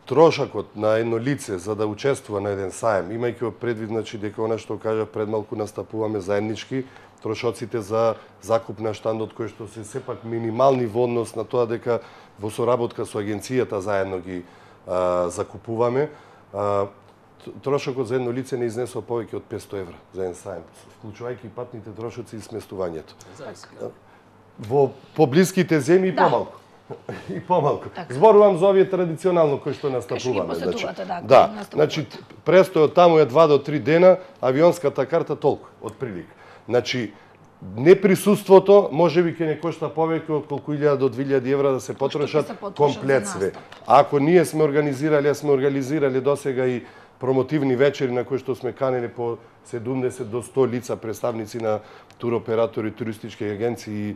Трошакот на едно лице за да учествува на еден сајм, имајќи предвид, значи, дека она што кажа пред малку настапуваме заеднички, трошоците за закуп на штандот кои што се сепак минимални во однос на тоа дека во соработка со агенцијата заедно ги закупуваме. трошокот за едно лице не изнесува повеќе од 500 евра за еден саем, вклучувајќи патните трошоци и сместувањето. Во поблиските земји помалку. И помалку. Зборувам за овие традиционално кои што настапуваме. Да, значи престојот таму е 2 до 3 дена, авионската карта толку од прилика. Значи неприсуството можеби ќе не кошта повеќе од колку 1000 до 2000 евра да се потрошат комплет све. Ако ние сме организирали досега и промотивни вечери на кои што сме канели по 70 до 100 лица представници на туроператори, туристички агенции и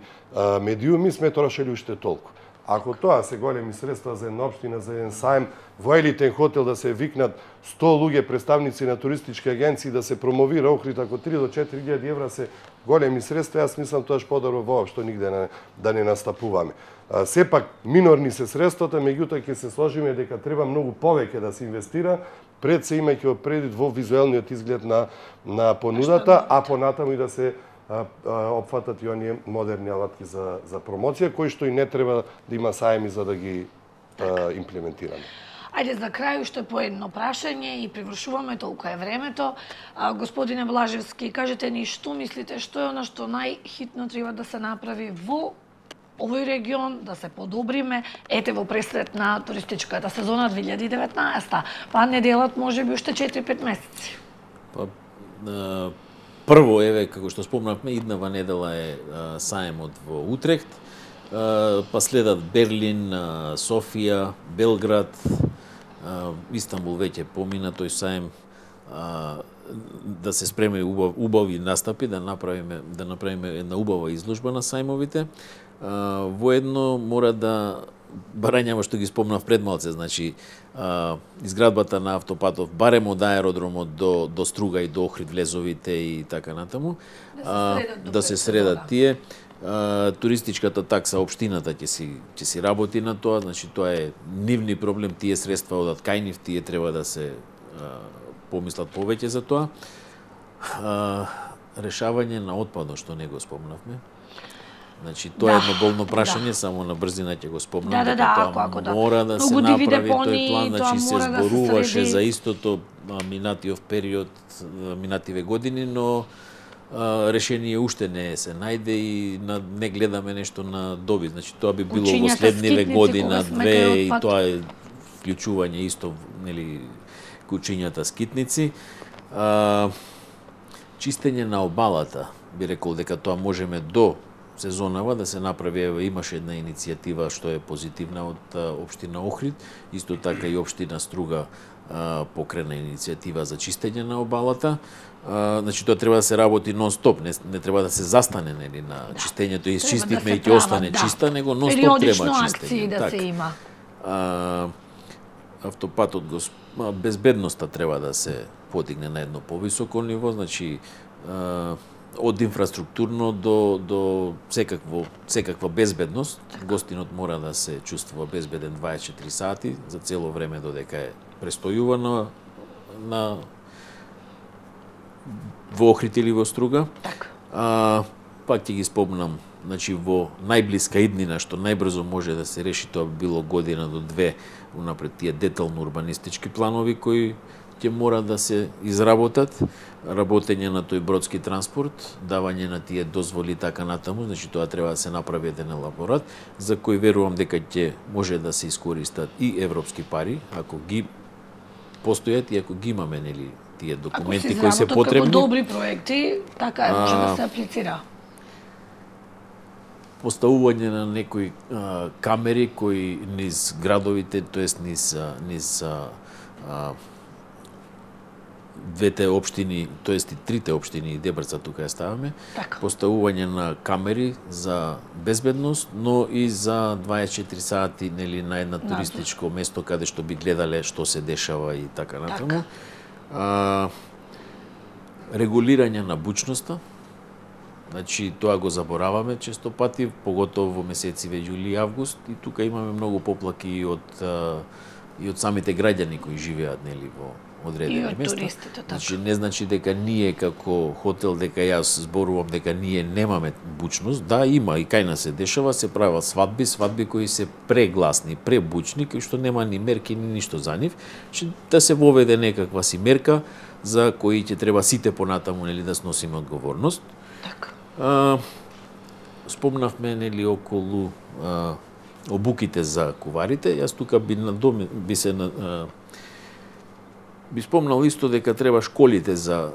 медиуми, сме трошели уште толку. Ако тоа се големи средства за една општина, за еден саем, во елитен хотел да се викнат 100 луѓе представници на туристички агенции да се промовира Охрид, ако 3 до 4000 евра се големи средства, јас мислам тоа подобро воопшто нигде да не настапуваме. Сепак минорни се средствата, меѓутоа ќе се сложиме дека треба многу повеќе да се инвестира, пред се имајќи предвид во визуелниот изглед на понудата, а понатаму и да се опфатат и оние модерни алатки за промоција, кои што и не треба да има саеми за да ги имплементираме. Ајде за крај уште по едно прашање и привршуваме, толку е времето. Господине Блажевски, кажете ни што мислите, што е она што најхитно треба да се направи во овој регион, да се подобриме, ете во пресрет на туристичката сезона 2019, па неделат можеби уште 4-5 месеци. Прво, еве, како што спомнавме, иднава недела е саемот во Утрехт, па следат Берлин, Софија, Белград, Истанбул веќе помина тој саем, да се спреме убави настапи, да направиме една убава изложба на сајмовите. Воедно мора да барањава што ги спомнав пред малце, значи изградбата на автопатов барем од аеродромот до Струга и до Охрид влезовите и така натаму, да се средат тие. Туристичката такса општината ќе си работи на тоа, значи тоа е нивни проблем, тие средства одат кај нив, тие треба да се помислат повеќе за тоа. Решавање на отпадот што не го спомнавме. Значи тоа е едно болно прашање, само на брзина ќе го спомнам, тоа мора да се направи тој план, значи се зборуваше за истото минатиов период, минативе години, но решение уште не се најде и не гледаме нешто на добит. Значи тоа би било во следниве година, две, и тоа е вклучување исто, нели, кучињата скитници. Чистење на обалата, би рекол дека тоа можеме до сезонава да се направи. Имаше една иницијатива што е позитивна од општина Охрид, исто така и општина Струга покрена иницијатива за чистење на обалата. Значи тоа треба да се работи нон-стоп, не треба да се застане, нели, на чистењето и чистивме и ќе остане чиста, него нон-стоп треба чистење. Да се има. Автопатот, безбедноста треба да се подигне на едно повисоко ниво, значи од инфраструктурно до секаква безбедност. Гостинот мора да се чувствува безбеден 24 сати за цело време додека е престојува во Охрид или во Струга. Пак ќе ги спомнам, значи во најблиска иднина што најбрзо може да се реши, тоа било година до 2 унапред, тие детално урбанистички планови кои ќе мора да се изработат, работење на тој бродски транспорт, давање на тие дозволи така натаму, значи тоа треба да се направи еден елаборат, за кој верувам дека ќе може да се искористат и европски пари, ако ги постојат и ако ги имаме, нели, тие документи кои се потребни. Како добри проекти, така е, може да се аплицира. Поставување на некои камери кои низ градовите, тоест низ двете општини, тоест и трите општини и Дебрца тука ја ставаме, поставување на камери за безбедност, но и за 24 сати, нели, на една туристичко место каде што би гледале што се дешава и така натаму. Регулирање на бучноста, значи тоа го забораваме често пати, поготово во месециве јули и август, и тука имаме многу поплаки и од самите граѓани кои живеат, нели, одредени места. туристите, така. Значи не значи дека ние како хотел, дека јас зборувам дека ние немаме бучност. Да, има и кај нас се дешава, се прават свадби кои се прегласни, пребучни, кои што нема ни мерки ни ништо за нив. Значи да се воведе некаква си мерка за кои ќе треба сите понатаму нели да сносиме одговорност. Така. Спомнавме нели околу обуките за куварите. Јас тука би спомнал исто дека треба школите за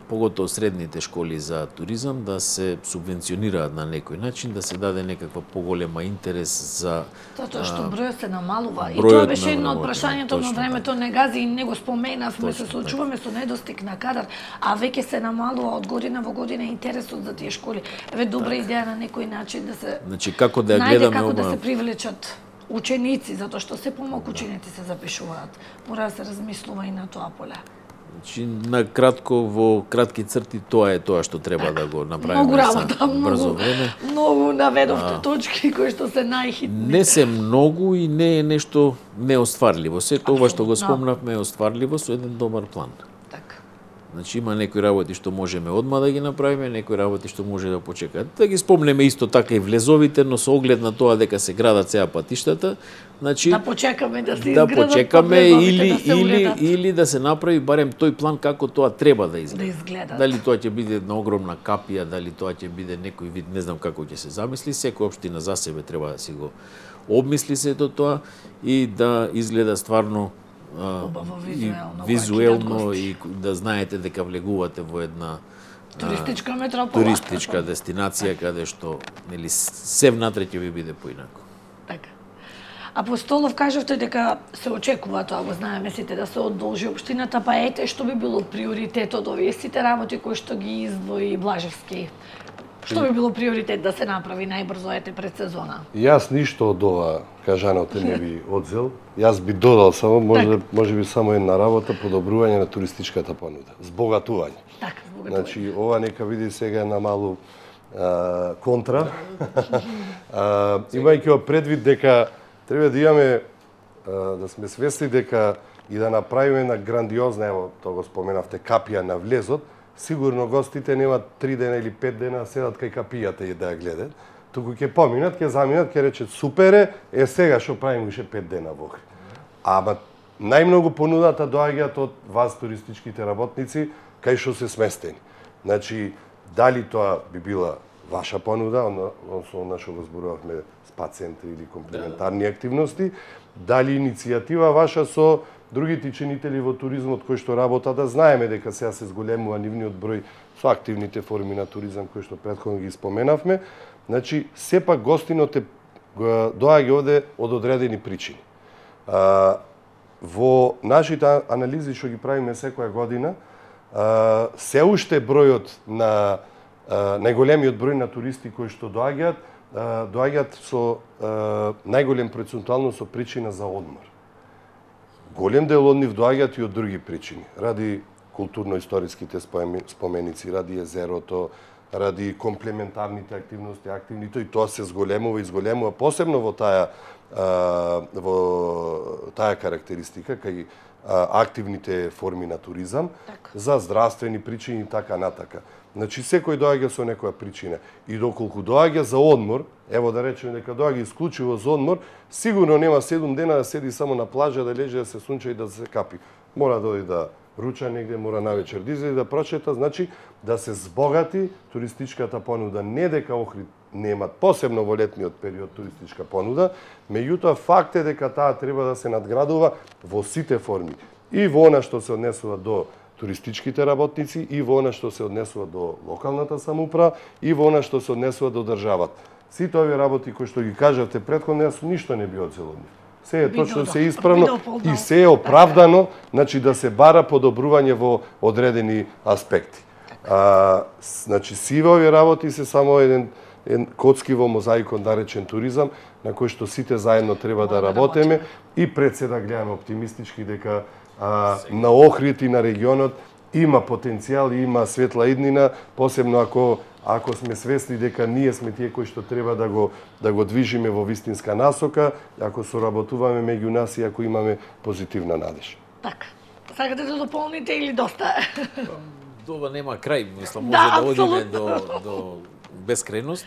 поготово средните школи за туризам да се субвенционираат на некој начин, да се даде некаква поголема интерес за Затоа што бројот се намалува и тоа беше едно од прашањето на времето не гази и не го споменавме, се соочуваме со недостиг на кадар, а веќе се намалува од година во година интересот за тие школи. Еве добра идеја на некој начин да се Значи како да ја најде гледаме како да се привлечат ученици, затоа што се помалку ученици се запишуваат. Мора да се размислува и на тоа поле. Значи, на кратко, во кратки црти, тоа е тоа што треба да го направиме Многу работа, брзо време. Многу наведовте точки кои што се најхитни. Не се многу и не е нешто неостварливо. Сето ова што го спомнавме е остварливо со еден добар план. Така. Значи има некои работи што можеме одма да ги направиме, некои работи што може да почекаат. Да ги спомнеме исто така и влезовите, но со оглед на тоа дека се градат сега патиштата, значи да почекаме да се изградат, да почекаме или да се направи барем тој план како тоа треба да изгледа. Да изгледа. Дали тоа ќе биде една огромна капија, дали тоа ќе биде некој вид, не знам како ќе се замисли, секоја општина за себе треба да си го обмисли сето тоа и да изгледа стварно визуелно и да знаете дека влегувате во една туристичка метропола, туристичка дестинација каде што нели се внатре ќе ви биде поинако. Така. Апостолов, кажавте дека се очекува тоа, го знаеме сите, да се одолжи општината, па ете што би било приоритет од овие сите работи кои што ги издвои Блажевски. Што би било приоритет да се направи најбрзо ете пред сезона? Јас ништо од ова кажаното не би одзел. Јас би додал само, може би само една работа, подобрување на туристичката понуда, збогатување. Така, збогатување. Значи, ова нека види сега на малу контра. Имајќи го предвид дека треба да имаме, да сме свесни дека и да направиме една грандиозна, ево, тоа го споменавте, капија на влезот, сигурно гостите немат 3 дена или 5 дена седат кај капијата и да ја гледат, туку ќе поминат, ќе заминат, ќе речат супер е сега што правиме уште 5 дена во Охрид. Ама најмногу понудата доаѓаат од вас туристичките работници кај што се сместени. Значи, дали тоа би била ваша понуда, односно што го зборувавме спа центри или комплементарни активности, дали иницијатива ваша со другите чинители во туризмот кои што работат, да знаеме дека сега се зголемува нивниот број со активните форми на туризам кои што претходно ги споменавме. Значи, сепак гостинот доаѓа овде од одредени причини. Во нашите анализи што ги правиме секоја година, се уште бројот на најголемиот број на туристи кои што доаѓаат со најголем процентуално со причина за одмор. Голем дел од нив доаѓаат и од други причини, ради културно-историските споменици, ради езерото, ради комплементарните активности, и тоа се изголемува посебно во таа карактеристика кај активните форми на туризам, за здравствени причини и така натака. Значи, секој доаѓа со некоја причина. И доколку доаѓа за одмор, ево да речеме дека доаѓа исклучиво за одмор, сигурно нема 7 дена да седи само на плажа, да лежи, да се сунча и да се капи. Мора да оди да руча негде, мора навечер да излезе да прочета, значи да се збогати туристичката понуда. Не дека Охрид немат, посебно во летниот период, туристичка понуда, меѓутоа факт е дека таа треба да се надградува во сите форми. И во она што се однесува до туристичките работници, и во она што се однесува до локалната самоуправа, и во она што се однесува до државата. Сите овие работи кои што ги кажавте претходно, јас ништо не би одзел од нив. Се е точно, се е исправно и се е оправдано, значи да се бара подобрување во одредени аспекти. Значи, сиве овие работи се само еден коцки во мозаикот наречен туризам, на кој што сите заедно треба да работиме и пред се да гледаме оптимистички дека на Охрид и на регионот има потенцијал и има светла иднина, посебно ако сме свесни дека ние сме тие кои што треба да го движиме во вистинска насока, ако соработуваме меѓу нас и ако имаме позитивна надеж. Така. Сакате да дополните или доста е? Ова нема крај, мислам, може Да, да одиме апсолутно. до бескрајност.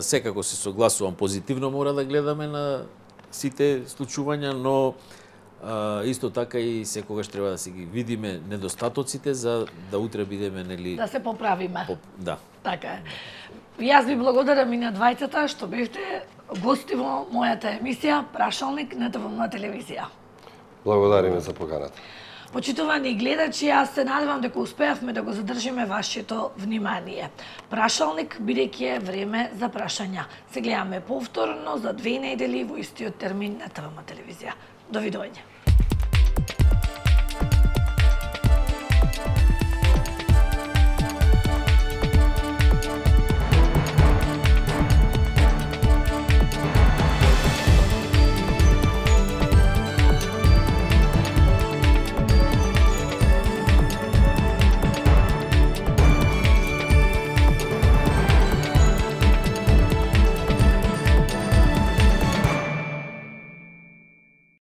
Секако се согласувам, позитивно мора да гледаме на сите случувања, но исто така и секогаш треба да си ги видиме недостатоците за да утре бидеме, нели... Да се поправиме. Да. Така е. И јас ви благодарам и на двајцата што бевте гости во мојата емисија Прашалник на ТВМ телевизија. Благодариме за поканата. Почитувани гледачи, јас се надевам дека успеавме да го задржиме вашето внимание. Прашалник, бидејќи е време за прашања. Се гледаме повторно за 2 недели во истиот термин на ТВМ телевизија. Довидување.